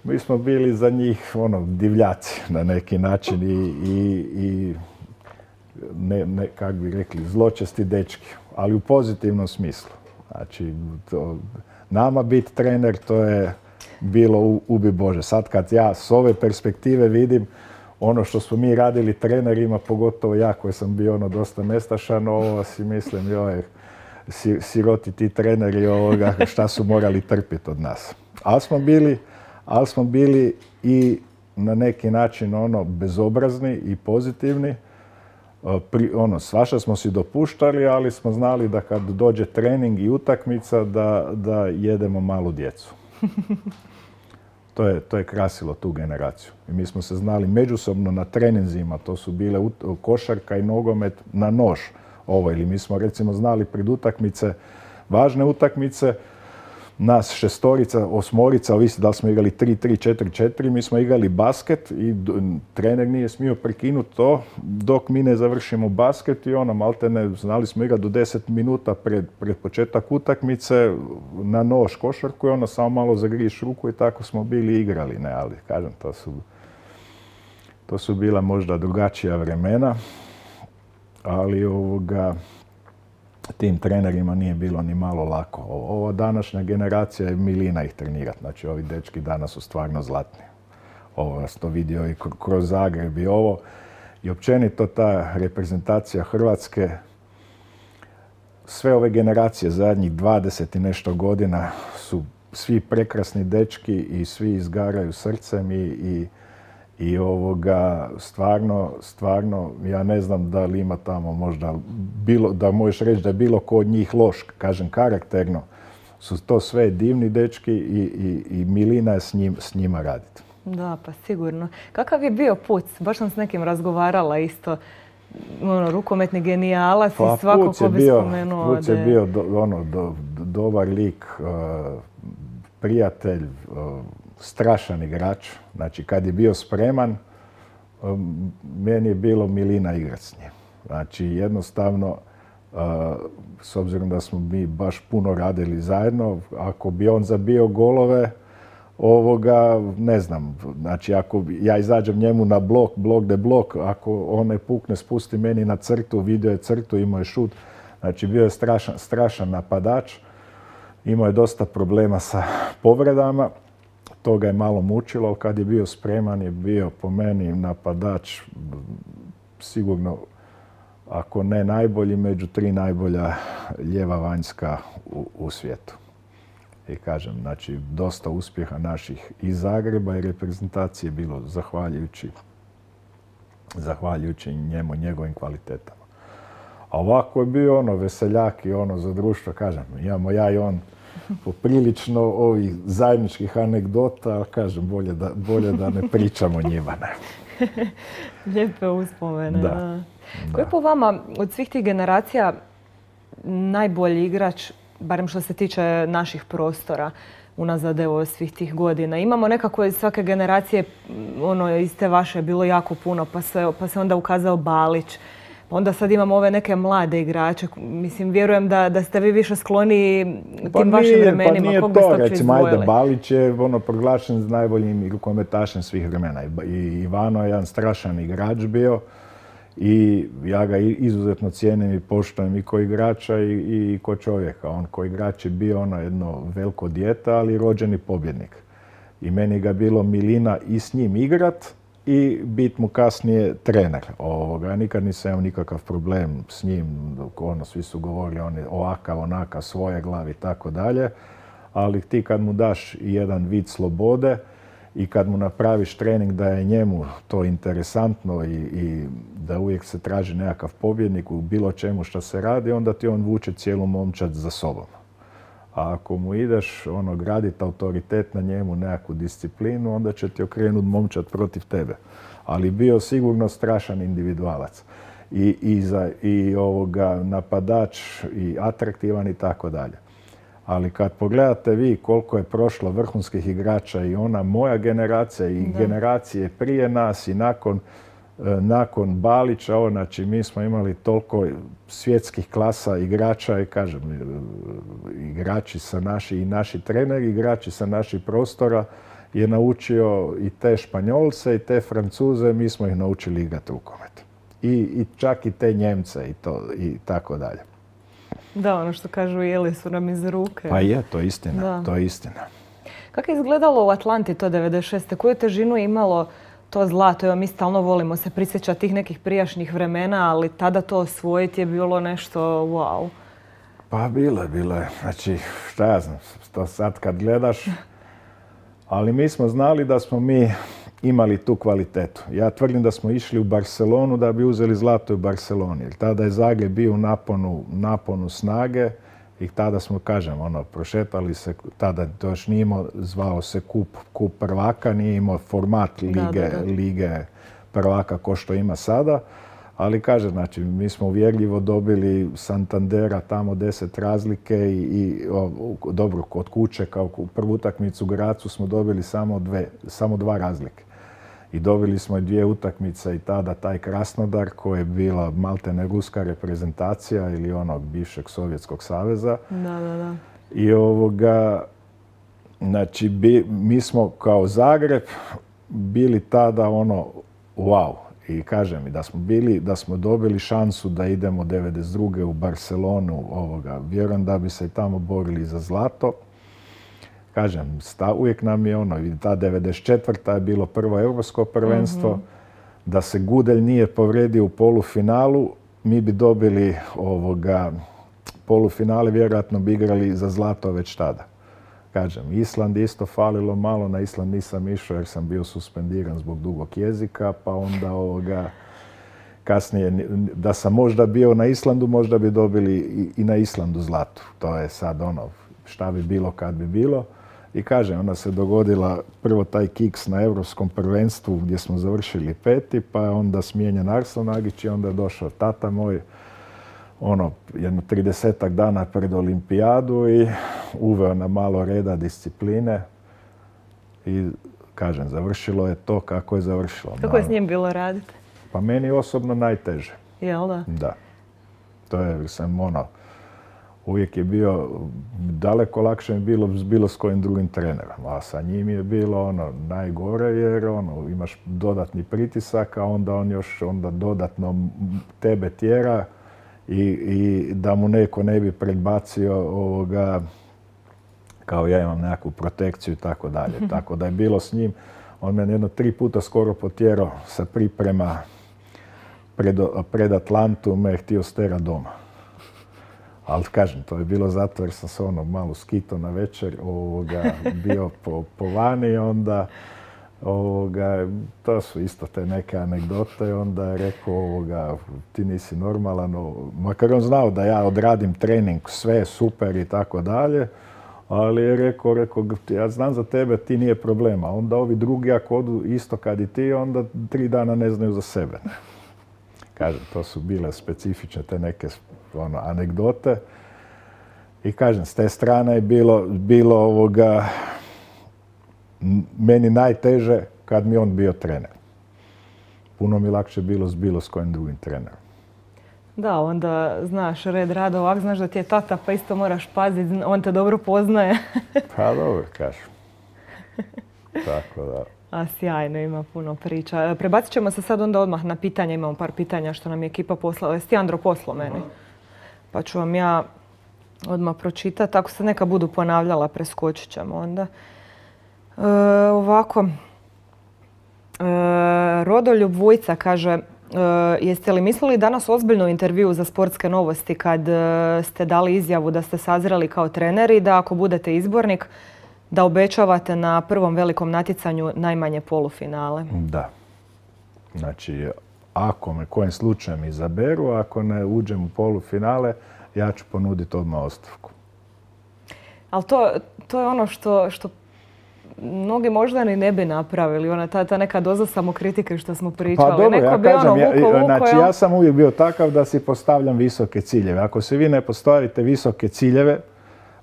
mi smo bili za njih ono, divljaci na neki način i, i, i ne, ne, kak bi rekli, zločesti dečki, ali u pozitivnom smislu. Znači, to, nama biti trener, to je bilo ubi Bože. Sad kad ja s ove perspektive vidim ono što smo mi radili trenerima, pogotovo ja koji sam bio ono dosta nestašan, ovo si mislim, joj, siroti ti treneri ovoga, šta su morali trpiti od nas. Ali smo bili, ali smo bili i na neki način ono bezobrazni i pozitivni. Pri, ono, svašta smo si dopuštali, ali smo znali da kad dođe trening i utakmica da, da jedemo malu djecu. To je, to je krasilo tu generaciju. I mi smo se znali međusobno na treninzima, to su bile ut, košarka i nogomet na nož. Ovo, ili mi smo recimo znali pred utakmice, važne utakmice, nas šestorica, osmorica, ovisi da li smo igrali tri tri, četiri četiri, mi smo igrali basket i trener nije smio prekinuti to dok mi ne završimo basket i ono, maltene, znali smo igrati do deset minuta pred, pred početak utakmice na nož košarku i ono samo malo zagriješ ruku i tako smo bili igrali, ne, ali kažem, to su, to su bila možda drugačija vremena, ali ovoga, tim trenerima nije bilo ni malo lako. Ova današnja generacija je milina ih trenirati. Znači, ovi dečki danas su stvarno zlatni. Ovo ja sam to vidio i kroz Zagreb i ovo. I općenito ta reprezentacija Hrvatske, sve ove generacije zadnjih dvadeset i nešto godina su svi prekrasni dečki i svi izgaraju srcem i, i I ovoga, stvarno, stvarno, ja ne znam da li ima tamo možda, bilo, da možeš reći da je bilo ko od njih loš, kažem karakterno, su to sve divni dečki i, i, i milina je s, njim, s njima raditi. Da, pa sigurno. Kakav je bio Puc? Baš sam s nekim razgovarala isto, ono, rukometni genijalac pa, i svako ko bi bio, spomenuo. Puc je de... bio do, ono, do, do, dobar lik, uh, prijatelj, uh, strašan igrač. Znači, kad je bio spreman, meni je bilo milina igrat s njim. Znači, jednostavno, s obzirom da smo mi baš puno radili zajedno, ako bi on zabio golove, ovoga, ne znam, znači ako ja izađem njemu na blok, blok de blok, ako on ne pukne, spusti meni na crtu, vidio je crtu, imao je šut, znači bio je strašan, strašan napadač, imao je dosta problema sa povredama. To ga je malo mučilo, ali kad je bio spreman je bio po meni napadač sigurno, ako ne najbolji, među tri najbolja lijeva vanjska u, u svijetu. I kažem, znači, dosta uspjeha naših iz Zagreba i reprezentacije bilo zahvaljujući, zahvaljujući njemu, njegovim kvalitetama. A ovako je bio ono veseljak i ono za društvo, kažem, imamo ja i on poprilično ovih zajedničkih anegdota, ali kažem, bolje da, bolje da ne pričamo njima. Ne. Lijepe uspomene. Da. Da. Ko je po vama od svih tih generacija najbolji igrač, barem što se tiče naših prostora, unazad evo svih tih godina? Imamo nekako iz svake generacije, ono iz te vaše bilo jako puno, pa se, pa se onda ukazao Balić. Onda sad imamo ove neke mlade igrače. Mislim, vjerujem da, da ste vi više skloni tim pa vašim nije, vremenima. Pa nije Kog to, recimo, ajde, Balić je ono proglašen najboljim rukometašem svih vremena. I Ivano je jedan strašan igrač bio i ja ga izuzetno cijenim i poštujem i ko igrača i, i ko čovjeka. On ko igrač je bio ono jedno veliko dijete, ali rođeni pobjednik. I meni ga bilo milina i s njim igrat, i bit mu kasnije trener. Ovoga, nikad nisam imao nikakav problem s njim, ono, svi su govorili on je ovakav, onakav, svoje glavi i tako dalje, ali ti kad mu daš jedan vid slobode i kad mu napraviš trening da je njemu to interesantno i, i da uvijek se traži nekakav pobjednik u bilo čemu što se radi, onda ti on vuče cijelu momčad za sobom. A ako mu ideš ono, graditi autoritet na njemu, nekakvu disciplinu, onda će ti okrenuti momčad protiv tebe. Ali bio sigurno strašan individualac. I, i, za, i ovoga, napadač, i atraktivan i tako dalje. Ali kad pogledate vi koliko je prošlo vrhunskih igrača i ona moja generacija i da. generacije prije nas i nakon, nakon Balića, ovo, znači mi smo imali toliko svjetskih klasa igrača i kažem, igrači sa naši i naši treneri, igrači sa naših prostora je naučio i te Španjolce i te Francuze, mi smo ih naučili igrati rukomet. I, i čak i te Njemce i, to, i tako dalje. Da, ono što kažu, jeli su nam iz ruke. Pa je, to je istina, da. to je istina. Kako je izgledalo u Atlanti to devedeset šeste? Koju težinu je imalo to zlato? Evo, mi stalno volimo se prisjećati tih nekih prijašnjih vremena, ali tada to osvojiti je bilo nešto wow. Pa bilo je, bilo je. Znači, šta ja znam, to sad kad gledaš, ali mi smo znali da smo mi imali tu kvalitetu. Ja tvrdim da smo išli u Barcelonu da bi uzeli zlato u Barceloni. Jer tada je Zagreb bio u naponu, naponu snage i tada smo, kažem, ono, prošetali se, tada to još nije imao, zvao se kup, kup prvaka, nije imao format lige, da, da, da. lige prvaka ko što ima sada. Ali kaže, znači, mi smo uvjerljivo dobili Santandera tamo deset razlike i, i o, dobro, kod kuće kao u prvu utakmicu u Gracu smo dobili samo, dve, samo dva razlike. I dobili smo i dvije utakmice i tada taj Krasnodar koji je bila maltene ruska reprezentacija ili onog bivšeg Sovjetskog saveza. Da, da, da. I ovoga, znači, bi, mi smo kao Zagreb bili tada ono, wow. I kažem mi da smo bili, da smo dobili šansu da idemo devedeset druge u Barcelonu, ovoga, vjerujem da bi se i tamo borili za zlato. Kažem, sta, uvijek nam je ono, ta devedeset četvrta je bilo prvo europsko prvenstvo, mm-hmm. da se Gudelj nije povredio u polufinalu, mi bi dobili ovoga, polufinale, vjerojatno bi igrali za zlato već tada. Kažem, Island isto falilo malo, na Island nisam išao jer sam bio suspendiran zbog dugog jezika, pa onda ovoga, kasnije, da sam možda bio na Islandu, možda bi dobili i, i na Islandu zlato. To je sad ono, šta bi bilo kad bi bilo. I kažem, onda se dogodila prvo taj kiks na Europskom prvenstvu gdje smo završili peti, pa je onda smijenjen Arslan Nagić i onda je došao tata moj, ono, jedno tridesetak dana pred olimpijadu i uveo na malo reda, discipline i, kažem, završilo je to kako je završilo. Kako je s njim bilo raditi? Pa meni osobno najteže. Jel da? Da. To je, sam ono, uvijek je bio, daleko lakše je bilo s bilo s kojim drugim trenerom, a sa njim je bilo ono najgore jer ono, imaš dodatni pritisak, a onda on još onda dodatno tebe tjera i, i da mu neko ne bi predbacio ovoga, kao ja imam nekakvu protekciju i tako dalje. Tako da je bilo s njim, on me jedno tri puta skoro potjerao sa priprema pred, pred Atlantu, me je htio stera doma. Ali kažem, to je bilo zato jer sam se ono malo skito na večer, ovoga, bio po, po vani, onda ovoga, to su isto te neke anegdote, onda je rekao ovoga, ti nisi normalan, makar on znao da ja odradim trening, sve je super i tako dalje, ali je rekao, rekao, ja znam za tebe, ti nije problema, onda ovi drugi ako odu isto kad i ti, onda tri dana ne znaju za sebe. Kažem, to su bile specifične te neke ono, anegdote. I kažem, s te strane je bilo, bilo ovoga, meni najteže kad mi on bio trener. Puno mi lakše bilo s bilo s kojim drugim trenerom. Da, onda znaš red rada ovak, znaš da ti je tata pa isto moraš paziti, on te dobro poznaje. Pa dobro, kažem. Tako da. A sjajno, ima puno priča. Prebacit ćemo se sad onda odmah na pitanja, imamo par pitanja što nam je ekipa poslala. Jesi ti, Andro, poslao meni? Pa ću vam ja odmah pročitati. Ako se neka budu ponavljala, preskočit ćemo onda. E, ovako, e, Rodoljub Vujca kaže, e, jeste li mislili danas ozbiljnu intervju za Sportske novosti kad e, ste dali izjavu da ste sazreli kao trener i da ako budete izbornik, da obećavate na prvom velikom natjecanju najmanje polufinale? Da. Znači, ako me kojim slučajem izaberu, ako ne uđem u polufinale, ja ću ponuditi odmah ostavku. Ali to, to je ono što, što mnogi možda ni ne bi napravili. Ona, ta, ta neka doza samokritike što smo pričali. Pa dobro, Neko ja bi kažem, ono, vuko, ja, vuko, znači ja sam uvijek bio takav da si postavljam visoke ciljeve. Ako se vi ne postavite visoke ciljeve,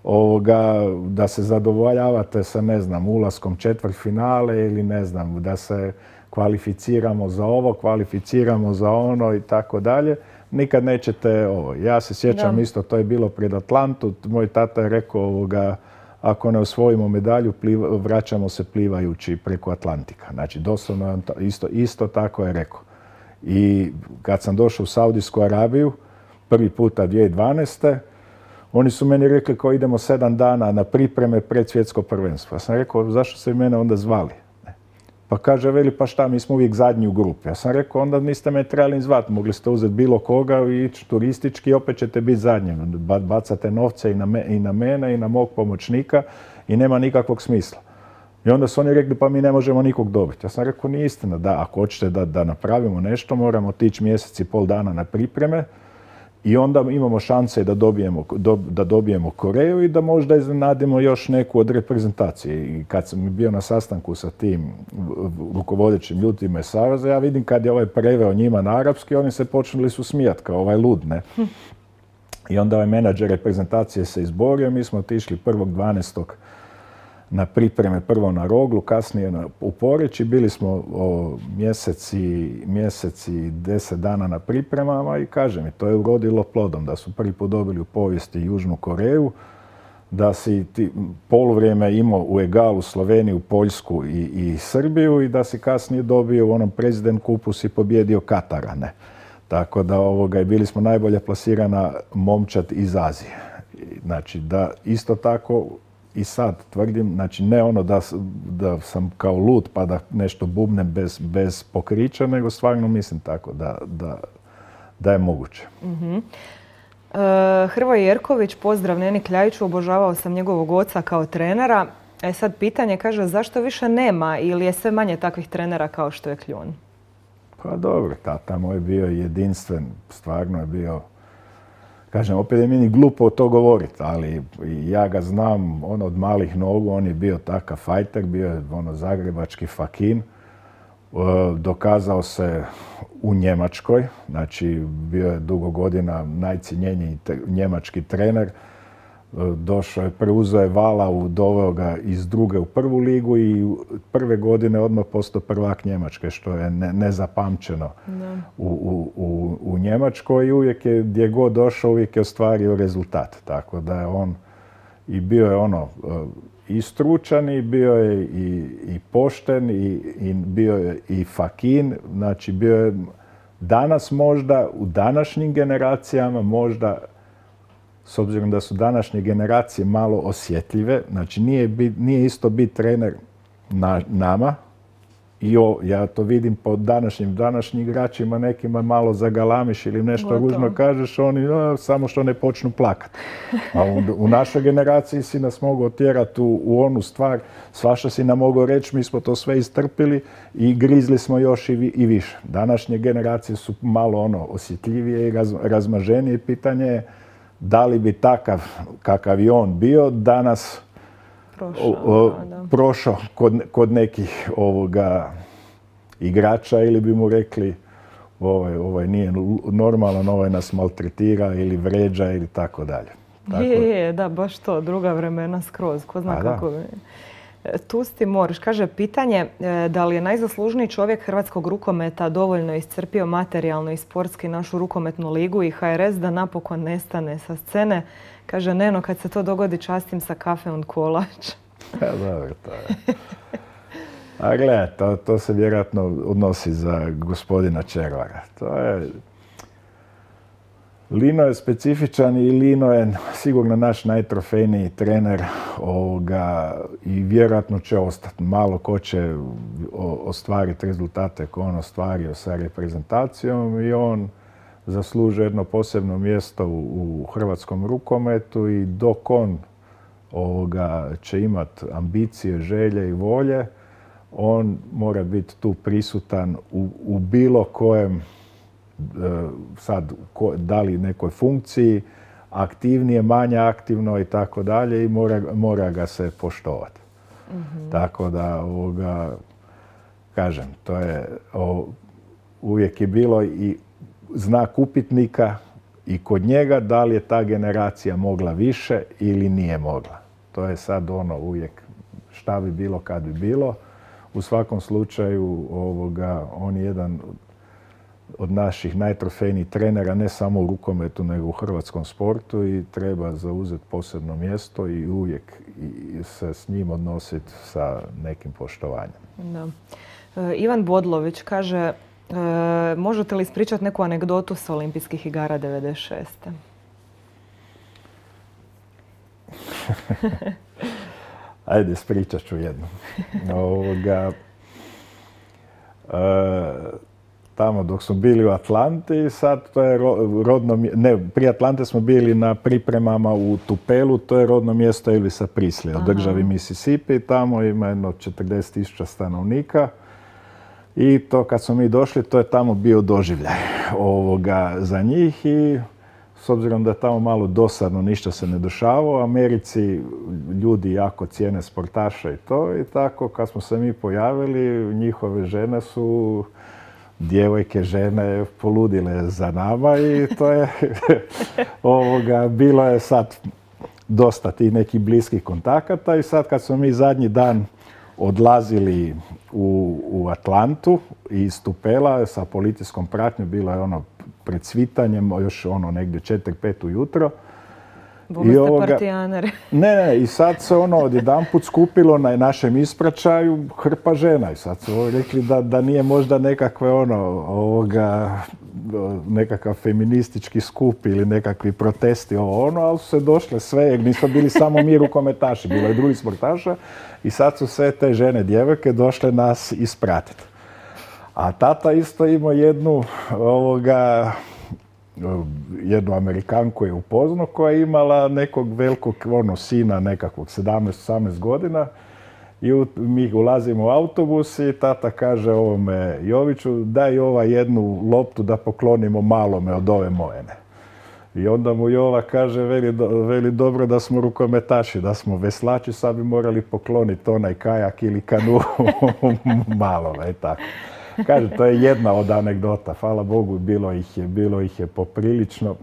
ovoga, da se zadovoljavate sa, ne znam, ulaskom četvrtfinale ili ne znam, da se kvalificiramo za ovo, kvalificiramo za ono i tako dalje, nikad nećete ovo. Ja se sjećam da. isto, to je bilo pred Atlantu, moj tata je rekao ovoga, ako ne osvojimo medalju, pliva, vraćamo se plivajući preko Atlantika. Znači, doslovno isto, isto tako je rekao. I kad sam došao u Saudijsku Arabiju, prvi puta dvije tisuće dvanaeste. Oni su meni rekli kao idemo sedam dana na pripreme pred svjetsko prvenstvo. Ja sam rekao, zašto ste mene onda zvali? Pa kaže, veli, pa šta, mi smo uvijek zadnji u grupi. Ja sam rekao, onda niste me trebali ni zvati, mogli ste uzeti bilo koga i ići turistički i opet ćete biti zadnji. Bacate novce i na, me, i na mene i na mog pomoćnika i nema nikakvog smisla. I onda su oni rekli, pa mi ne možemo nikog dobiti. Ja sam rekao, nije istina, da ako hoćete da, da napravimo nešto, moramo otići mjesec i pol dana na pripreme i onda imamo šanse da dobijemo, do, da dobijemo Koreju i da možda iznenadimo još neku od reprezentacije. I kad sam bio na sastanku sa tim rukovodećim ljudima iz Saveza, ja vidim kad je ovaj preveo njima na arapski, oni se počeli su smijati kao ovaj lud, ne? I onda ovaj menadžer reprezentacije se izborio, mi smo otišli prvog dvanaestog na pripreme, prvo na Roglu, kasnije na, u Poreču. Bili smo o, mjeseci, mjeseci, deset dana na pripremama i kaže mi, to je urodilo plodom, da su prvi put dobili u povijesti Južnu Koreju, da si ti poluvrijeme imao u egalu Sloveniju, Poljsku i, i Srbiju i da si kasnije dobio u onom President Kupu si pobjedio Katara, ne. Tako da ovoga, bili smo najbolje plasirana momčad iz Azije. Znači da isto tako i sad tvrdim, znači ne ono da, da sam kao lud pa da nešto bubnem bez, bez pokrića, nego stvarno mislim tako da, da, da je moguće. Mm-hmm. uh, Hrvoje Jerković, pozdrav Neni Kljajiću, obožavao sam njegovog oca kao trenera. E sad pitanje, kaže, zašto više nema ili je sve manje takvih trenera kao što je Kljun? Pa dobro, tata moj je bio jedinstven, stvarno je bio. Kažem, opet je meni glupo to govoriti, ali ja ga znam ono od malih nogu, on je bio takav fajter, bio je ono zagrebački fakin, dokazao se u Njemačkoj, znači bio je dugo godina najcijenjeniji njemački trener, došao je, preuzeo je Valau, doveo ga iz druge u prvu ligu i prve godine odmah postao prvak Njemačke, što je ne, nezapamćeno u, u, u, u Njemačkoj i uvijek je, gdje god došao, uvijek je ostvario rezultat. Tako da je on i bio je ono i stručan i bio je i, i pošten i, i bio je i fakin, znači bio je danas možda, u današnjim generacijama možda, s obzirom da su današnje generacije malo osjetljive, znači nije, bit, nije isto biti trener na, nama. I o, ja to vidim po današnjim, današnjim igračima, nekima malo zagalamiš ili nešto Gotovo. ružno kažeš, oni o, samo što ne počnu plakati. A u, u našoj generaciji si nas mogao tjerati u, u onu stvar, svašta si nam mogao reći, mi smo to sve istrpili i grizli smo još i, i više. Današnje generacije su malo ono osjetljivije i raz, razmaženije. Pitanje je da li bi takav kakav je on bio danas prošao, o, o, prošao kod, kod nekih ovoga igrača ili bi mu rekli ovaj, ovaj nije normalan, ovaj nas maltretira ili vređa ili tako dalje. Tako... Je, je, da, baš to, druga vremena skroz, ko zna A, kako bi... Tusti Moriš kaže, pitanje da li je najzaslužniji čovjek hrvatskog rukometa dovoljno iscrpio materijalno i sportski našu rukometnu ligu i H R S da napokon nestane sa scene. Kaže, Neno, kad se to dogodi, častim sa kafe und kolač. Ja, dobro, to je. A gledaj, to, to se vjerojatno odnosi za gospodina Červara. To je... Lino je specifičan i Lino je sigurno naš najtrofejniji trener ovoga, i vjerojatno će ostati. Malo ko će ostvariti rezultate koje on ostvario sa reprezentacijom i on zaslužuje jedno posebno mjesto u, u hrvatskom rukometu i dok on ovoga, će imati ambicije, želje i volje, on mora biti tu prisutan u, u bilo kojem sad da li nekoj funkciji, aktivnije, manje aktivno i tako dalje i mora, mora ga se poštovati. Mm-hmm. Tako da, ovoga, kažem, to je o, uvijek je bilo i znak upitnika i kod njega da li je ta generacija mogla više ili nije mogla. To je sad ono uvijek šta bi bilo kad bi bilo. U svakom slučaju ovoga, on je jedan od naših najtrofejnijih trenera, ne samo u rukometu, nego u hrvatskom sportu i treba zauzeti posebno mjesto i uvijek se s njim odnositi sa nekim poštovanjem. Da. E, Ivan Bodlović kaže, e, možete li ispričati neku anegdotu sa olimpijskih igara devedeset šeste. Ajde, ispričat ću jednu. Ovoga, e, tamo dok smo bili u Atlanti, sad to je rodno, ne, prije Atlante smo bili na pripremama u Tupelu, to je rodno mjesto Elvisa Preslya u državi Mississippi, tamo ima jedno četrdeset tisuća stanovnika i to kad smo mi došli, to je tamo bio doživljaj ovoga za njih i s obzirom da je tamo malo dosadno, ništa se ne dešava, u Americi ljudi jako cijene sportaša i to i tako kad smo se mi pojavili, njihove žene su djevojke, žene poludile za nama i to je ovoga, bilo je sad dosta tih nekih bliskih kontakata i sad kad smo mi zadnji dan odlazili u, u Atlantu iz Tupela sa policijskom pratnjom, bilo je ono pred svitanjem, još ono negdje četiri pet ujutro. Bome ste partijaner. Ne, ne, i sad se ono odjedanput skupilo na našem ispraćaju hrpa žena i sad su rekli da, da nije možda nekakve ono, ovoga, nekakav feministički skup ili nekakvi protesti ovo ono, ali su se došle sve, jer nismo bili samo mi rukometaši, bilo je drugi sportaša i sad su sve te žene, djevojke došle nas ispratiti. A tata isto imao jednu ovoga, jednu Amerikanku je upoznao koja je imala nekog velikog ono, sina nekakvog sedamnaest osamnaest godina i u, mi ulazimo u autobus i tata kaže ovome Joviću daj ova jednu loptu da poklonimo malome od ove mojene. I onda mu Jova kaže veli, veli dobro da smo rukometaši, da smo veslači, sad bi morali pokloniti onaj kajak ili kanu malome i tako. Kaže, to je jedna od anegdota. Hvala Bogu, bilo ih je, bilo ih je poprilično.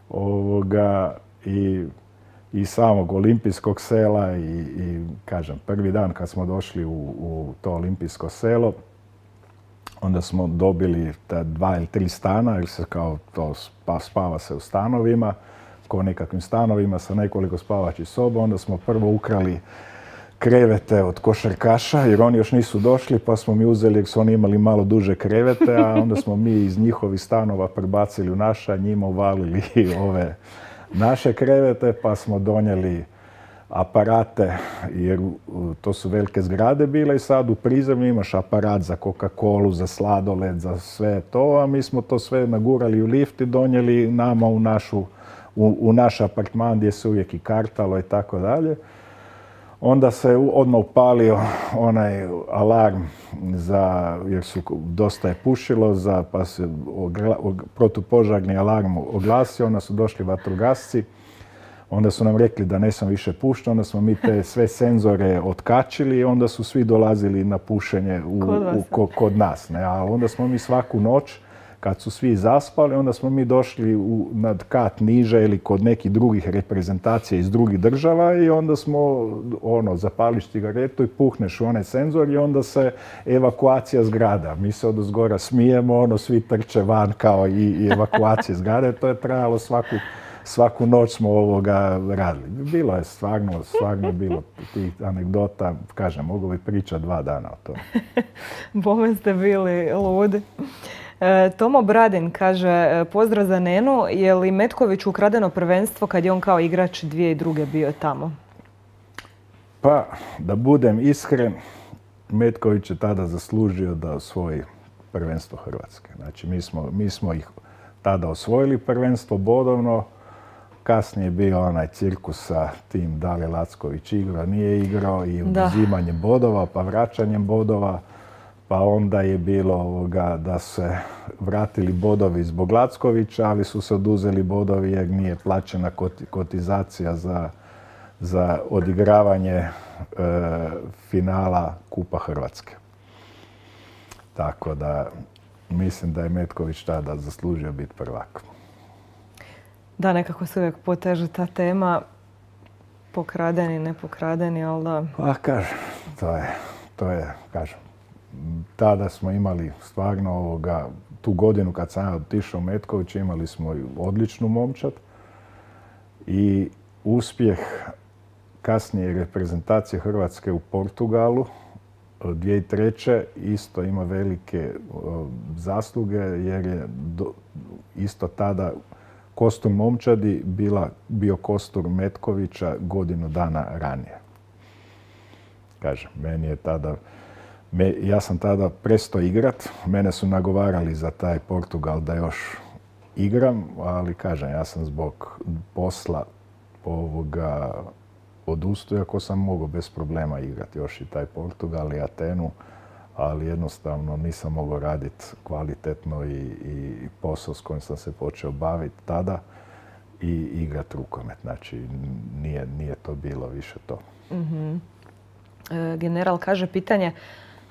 Ovoga, i, i samog olimpijskog sela i, i, kažem, prvi dan kad smo došli u, u to olimpijsko selo, onda smo dobili ta dva ili tri stana, jer se kao to spa, spava se u stanovima, ko nekakvim stanovima sa nekoliko spavačih soba. Onda smo prvo ukrali krevete od košarkaša, jer oni još nisu došli, pa smo mi uzeli, jer su oni imali malo duže krevete, a onda smo mi iz njihovih stanova prebacili u naša, njima uvalili ove naše krevete, pa smo donijeli aparate, jer to su velike zgrade bile i sad u prizemlju imaš aparat za Coca-Colu, za sladoled, za sve to, a mi smo to sve nagurali u lift i donijeli nama u, našu, u, u naš apartman gdje se uvijek i kartalo i tako dalje. Onda se odmah upalio onaj alarm za, jer su dosta je pušilo, za, pa se ogla, og, protupožarni alarm oglasio, onda su došli vatrogasci, onda su nam rekli da ne sam više pušten, onda smo mi te sve senzore otkačili i onda su svi dolazili na pušenje u, kod, u, ko, kod nas. Ne? A onda smo mi svaku noć, kad su svi zaspali, onda smo mi došli u, nad kat niže ili kod nekih drugih reprezentacija iz drugih država i onda smo ono, zapališ cigaretu i puhneš u onaj senzor i onda se evakuacija zgrada. Mi se od zgora smijemo, ono, svi trče van kao i, i evakuacije zgrade. To je trajalo svaku, svaku noć smo ovoga radili. Bilo je stvarno, stvarno bilo tih anegdota, kažem, mogu bi pričati dva dana o tome. Bome ste bili ludi. Tomo Bradin kaže, pozdrav za Nenu, je li Metkoviću ukradeno prvenstvo kad je on kao igrač dvije i druge bio tamo? Pa, da budem iskren, Metković je tada zaslužio da osvoji prvenstvo Hrvatske. Znači, mi smo, mi smo ih tada osvojili prvenstvo bodovno, kasnije je bio onaj cirkus sa tim da li Lacković igrao, nije igrao i oduzimanjem bodova, pa vraćanjem bodova. Pa onda je bilo ovoga da se vratili bodovi zbog Lackovića, ali su se oduzeli bodovi jer nije plaćena kotizacija za, za odigravanje e, finala Kupa Hrvatske. Tako da mislim da je Metković tada zaslužio biti prvak. Da, nekako se uvijek poteže ta tema, pokradeni, ne pokradeni, ali da... Pa kažem, to je, to je, kažem, tada smo imali stvarno ovoga tu godinu kad sam otišao u Metković imali smo odličnu momčad i uspjeh kasnije reprezentacije Hrvatske u Portugalu dvije tisuće treće isto ima velike zasluge jer je do, isto tada kostur momčadi bila, bio kostur Metkovića godinu dana ranije. Kažem, meni je tada, me, ja sam tada prestao igrat, mene su nagovarali za taj Portugal da još igram, ali kažem, ja sam zbog posla ovoga odustao, iako sam mogao bez problema igrati još i taj Portugal i Atenu, ali jednostavno nisam mogao raditi kvalitetno i, i posao s kojim sam se počeo baviti tada i igrati rukomet. Znači, nije, nije to bilo više to. Mm-hmm. E, general kaže pitanje,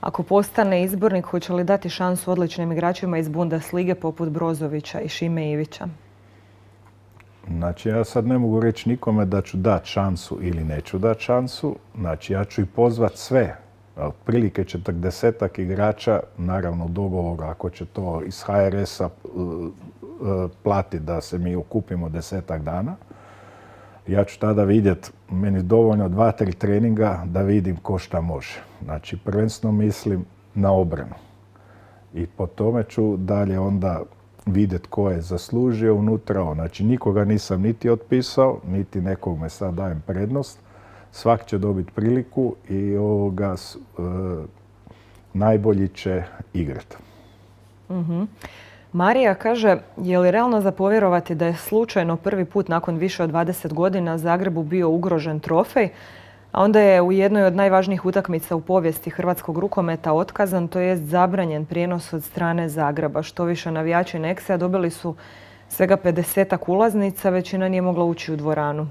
ako postane izbornik, hoće li dati šansu odličnim igračima iz Bundeslige poput Brozovića i Šime Ivića? Znači, ja sad ne mogu reći nikome da ću dati šansu ili neću dati šansu. Znači, ja ću i pozvati sve. Otprilike četrdesetak igrača, naravno u dogovoru, ako će to iz ha er es-a platiti da se mi okupimo desetak dana. Ja ću tada vidjeti, meni dovoljno dva, tri treninga da vidim ko šta može. Znači, prvenstveno mislim na obranu. I po tome ću dalje onda vidjeti ko je zaslužio unutra. Znači, nikoga nisam niti otpisao, niti nekog me sad dajem prednost. Svak će dobiti priliku i ovoga e, najbolji će igrati. Mm-hmm. Marija kaže, je li realno za povjerovati da je slučajno prvi put nakon više od dvadeset godina Zagrebu bio ugrožen trofej, a onda je u jednoj od najvažnijih utakmica u povijesti hrvatskog rukometa otkazan, to jest zabranjen prijenos od strane Zagreba. Što više navijači Nexe dobili su svega pedesetak ulaznica, većina nije mogla ući u dvoranu.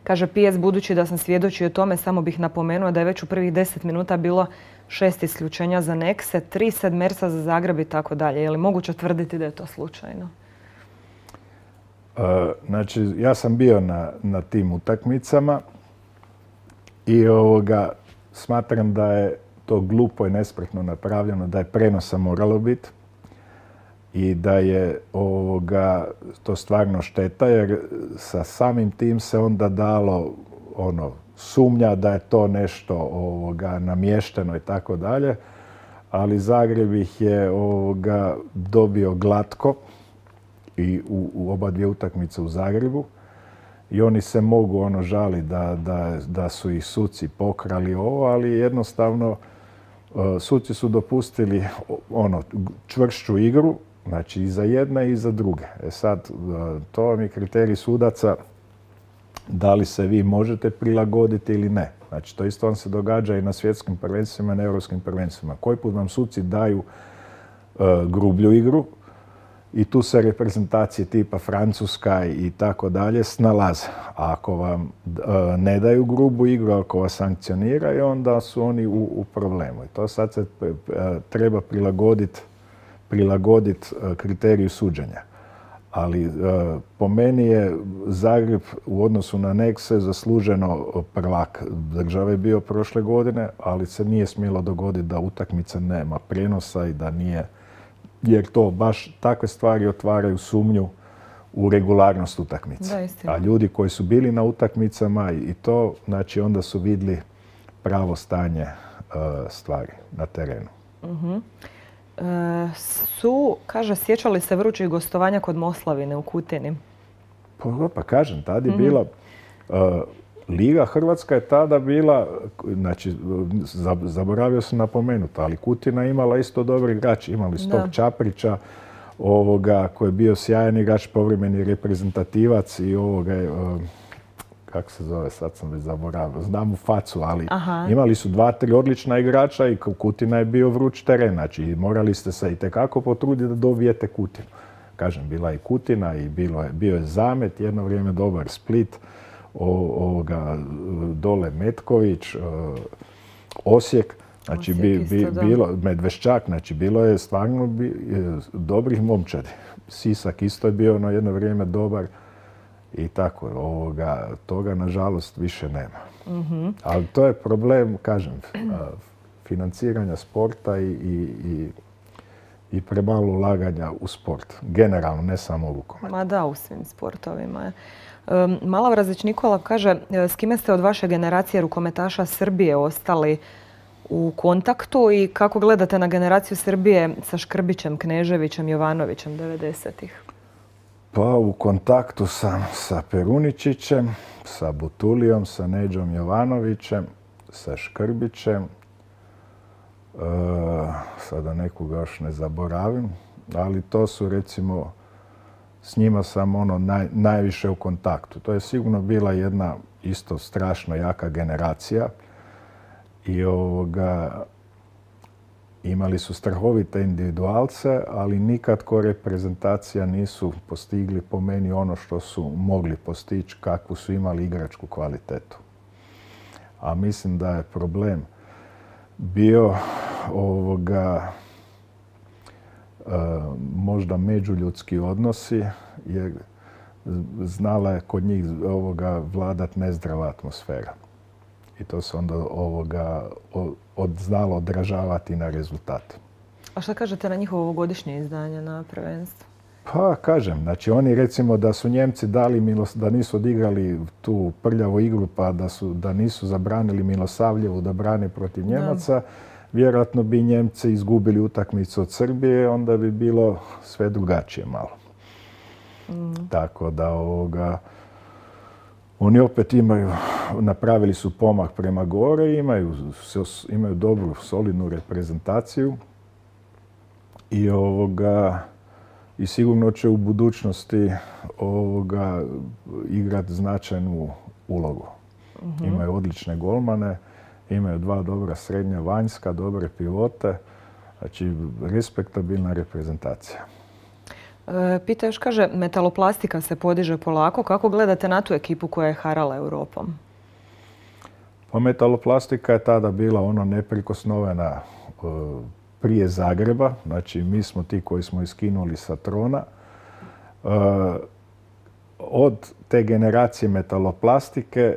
Kaže P S, budući da sam svjedočio tome, samo bih napomenuo da je već u prvih deset minuta bilo šest isključenja za Nexe, tri sedmerca za Zagreb i tako dalje. Je li moguće tvrditi da je to slučajno? Uh, znači, ja sam bio na, na tim utakmicama i ovoga, smatram da je to glupo i nespretno napravljeno, da je prenosa moralo biti i da je ovoga, to stvarno šteta, jer sa samim tim se onda dalo ono, sumnja da je to nešto ovoga, namješteno i tako dalje, ali Zagreb ih je ovoga, dobio glatko i u, u oba dvije utakmice u Zagrebu i oni se mogu ono žaliti da, da, da su ih suci pokrali ovo, ali jednostavno uh, suci su dopustili ono, čvršću igru, znači i za jedne i za druge. E sad, to vam je kriterij sudaca da li se vi možete prilagoditi ili ne. Znači, to isto vam se događa i na svjetskim prvenstvima i na europskim prvenstvima. Koji put vam suci daju uh, grublju igru i tu se reprezentacije tipa Francuska i tako dalje snalaze. A ako vam uh, ne daju grubu igru, ako vas sankcioniraju, onda su oni u, u problemu. I to sad se uh, treba prilagoditi prilagoditi kriteriju suđenja. Ali e, po meni je Zagreb u odnosu na Nexe zasluženo prvak države bio prošle godine, ali se nije smjelo dogoditi da utakmica nema prijenosa i da nije, jer to baš takve stvari otvaraju sumnju u regularnost utakmice. A ljudi koji su bili na utakmicama i to, znači onda su vidjeli pravo stanje e, stvari na terenu. Mm-hmm. Su, kaže, sjećali se vrućih gostovanja kod Moslavine u Kutini? Pa, pa kažem, tada je mm-hmm. bila, uh, Liga Hrvatska je tada bila, znači, zaboravio sam napomenuti, ali Kutina imala isto dobri igrač. Imali Stok Čaprića, ovoga, koji je bio sjajan igrač, povremeni reprezentativac i ovoga, uh, kako se zove, sad sam već zaboravio, znam u facu, ali Aha. imali su dva, tri odlična igrača i Kutina je bio vruć teren, znači morali ste se itekako potruditi da dobijete Kutinu. Kažem, bila je Kutina i bilo je, bio je Zamet, jedno vrijeme dobar Split, o, ovoga, dole Metković, o, Osijek, znači Osijek bi, bi, bilo, Medveščak, znači bilo je stvarno bi, dobrih momčadi. Sisak isto je bio na jedno vrijeme dobar. I tako, ovoga, toga nažalost više nema. Mm-hmm. Ali to je problem, kažem, financiranja sporta i, i, i premalo ulaganja u sport. Generalno, ne samo u rukomet. Ma da, u svim sportovima. Malavrazić Nikola kaže, s kime ste od vaše generacije rukometaša Srbije ostali u kontaktu i kako gledate na generaciju Srbije sa Škrbićem, Kneževićem, Jovanovićem devedesetih? Pa u kontaktu sam sa Peruničićem, sa Butulijom, sa Neđom Jovanovićem, sa Škrbićem. E, sada nekoga još ne zaboravim, ali to su recimo, s njima sam ono naj, najviše u kontaktu. To je sigurno bila jedna isto strašno jaka generacija i ovoga, imali su strahovite individualce, ali nikad ko reprezentacija nisu postigli po meni ono što su mogli postići, kakvu su imali igračku kvalitetu. A mislim da je problem bio ovoga, e, možda međuljudski odnosi, jer znala je kod njih ovoga vladat nezdrava atmosfera. I to se onda ovoga od, znalo odražavati na rezultate. A šta kažete na njihovo ovogodišnje izdanje na prvenstvu? Pa kažem, znači oni recimo da su Njemci dali, milos, da nisu odigrali tu prljavu igru pa da, su, da nisu zabranili Milosavljevu da brane protiv Njemaca, da. Vjerojatno bi Njemci izgubili utakmicu od Srbije, onda bi bilo sve drugačije malo. Mm. Tako da ovoga, oni opet imaju, napravili su pomak prema gore, imaju, imaju dobru, solidnu reprezentaciju i ovoga, i sigurno će u budućnosti ovoga igrati značajnu ulogu. Mm-hmm. Imaju odlične golmane, imaju dva dobra srednja vanjska, dobre pivote, znači respektabilna reprezentacija. E, Pita još kaže, metaloplastika se podiže polako. Kako gledate na tu ekipu koja je harala Europom? Pa metaloplastika je tada bila ono neprikosnovena e, prije Zagreba. Znači, mi smo ti koji smo iskinuli sa trona. E, od te generacije metaloplastike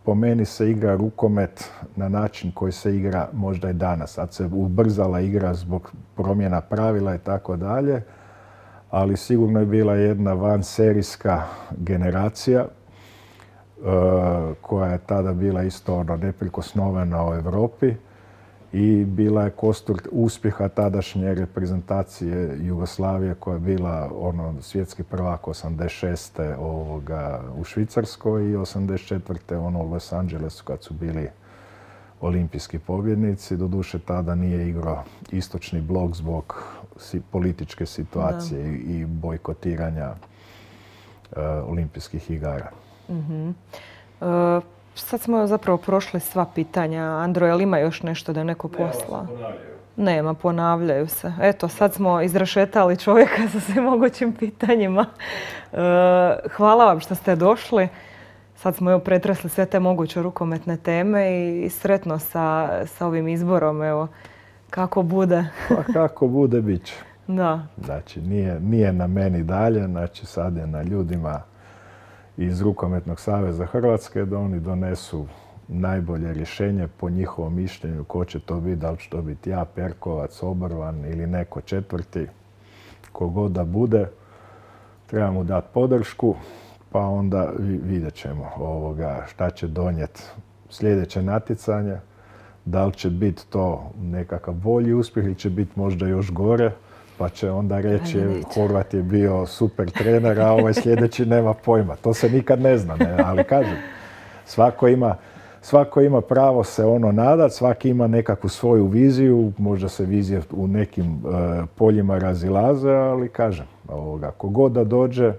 po meni se igra rukomet na način koji se igra možda i danas. Sad se ubrzala igra zbog promjena pravila i tako dalje. Ali sigurno je bila jedna vanserijska generacija e, koja je tada bila isto ono neprikosnovena u Europi i bila je kostur uspjeha tadašnje reprezentacije Jugoslavije koja je bila ono svjetski prvak osamdeset šeste ovoga u Švicarskoj i osamdeset četvrte ono u Los Angelesu kad su bili olimpijski pobjednici. Doduše tada nije igrao istočni blok zbog političke situacije da. i bojkotiranja uh, olimpijskih igara. Mm-hmm. uh, sad smo zapravo prošli sva pitanja. Andro, je li ima još nešto da je neko posla? Nema, ponavljaju se. Eto, sad smo izrašetali čovjeka sa svim mogućim pitanjima. Uh, hvala vam što ste došli. Sad smo evo pretresli sve te moguće rukometne teme i sretno sa, sa ovim izborom. Evo, kako bude. Pa kako bude, bit će. Da. Znači, nije, nije na meni dalje, znači sad je na ljudima iz Rukometnog saveza Hrvatske da oni donesu najbolje rješenje po njihovom mišljenju ko će to biti, da li će to biti ja, Perkovac, Obrvan ili neko četvrti. Kogod da bude, treba mu dati podršku, pa onda vidjet ćemo ovoga šta će donijeti sljedeće natjecanje. Da li će biti to nekakav bolji uspjeh ili će biti možda još gore, pa će onda reći Horvat je bio super trener, a ovaj sljedeći nema pojma. To se nikad ne zna, ne? Ali kažem, svako ima, svako ima pravo se ono nadat, svaki ima nekakvu svoju viziju, možda se vizije u nekim uh, poljima razilaze, ali kažem, ovoga, kogod da dođe,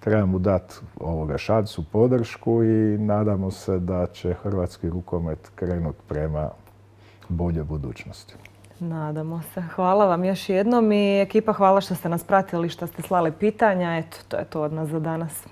treba mu dati ovoga šansu, podršku i nadamo se da će hrvatski rukomet krenuti prema boljoj budućnosti. Nadamo se. Hvala vam još jednom i ekipa hvala što ste nas pratili, što ste slali pitanja. Eto, to je to od nas za danas.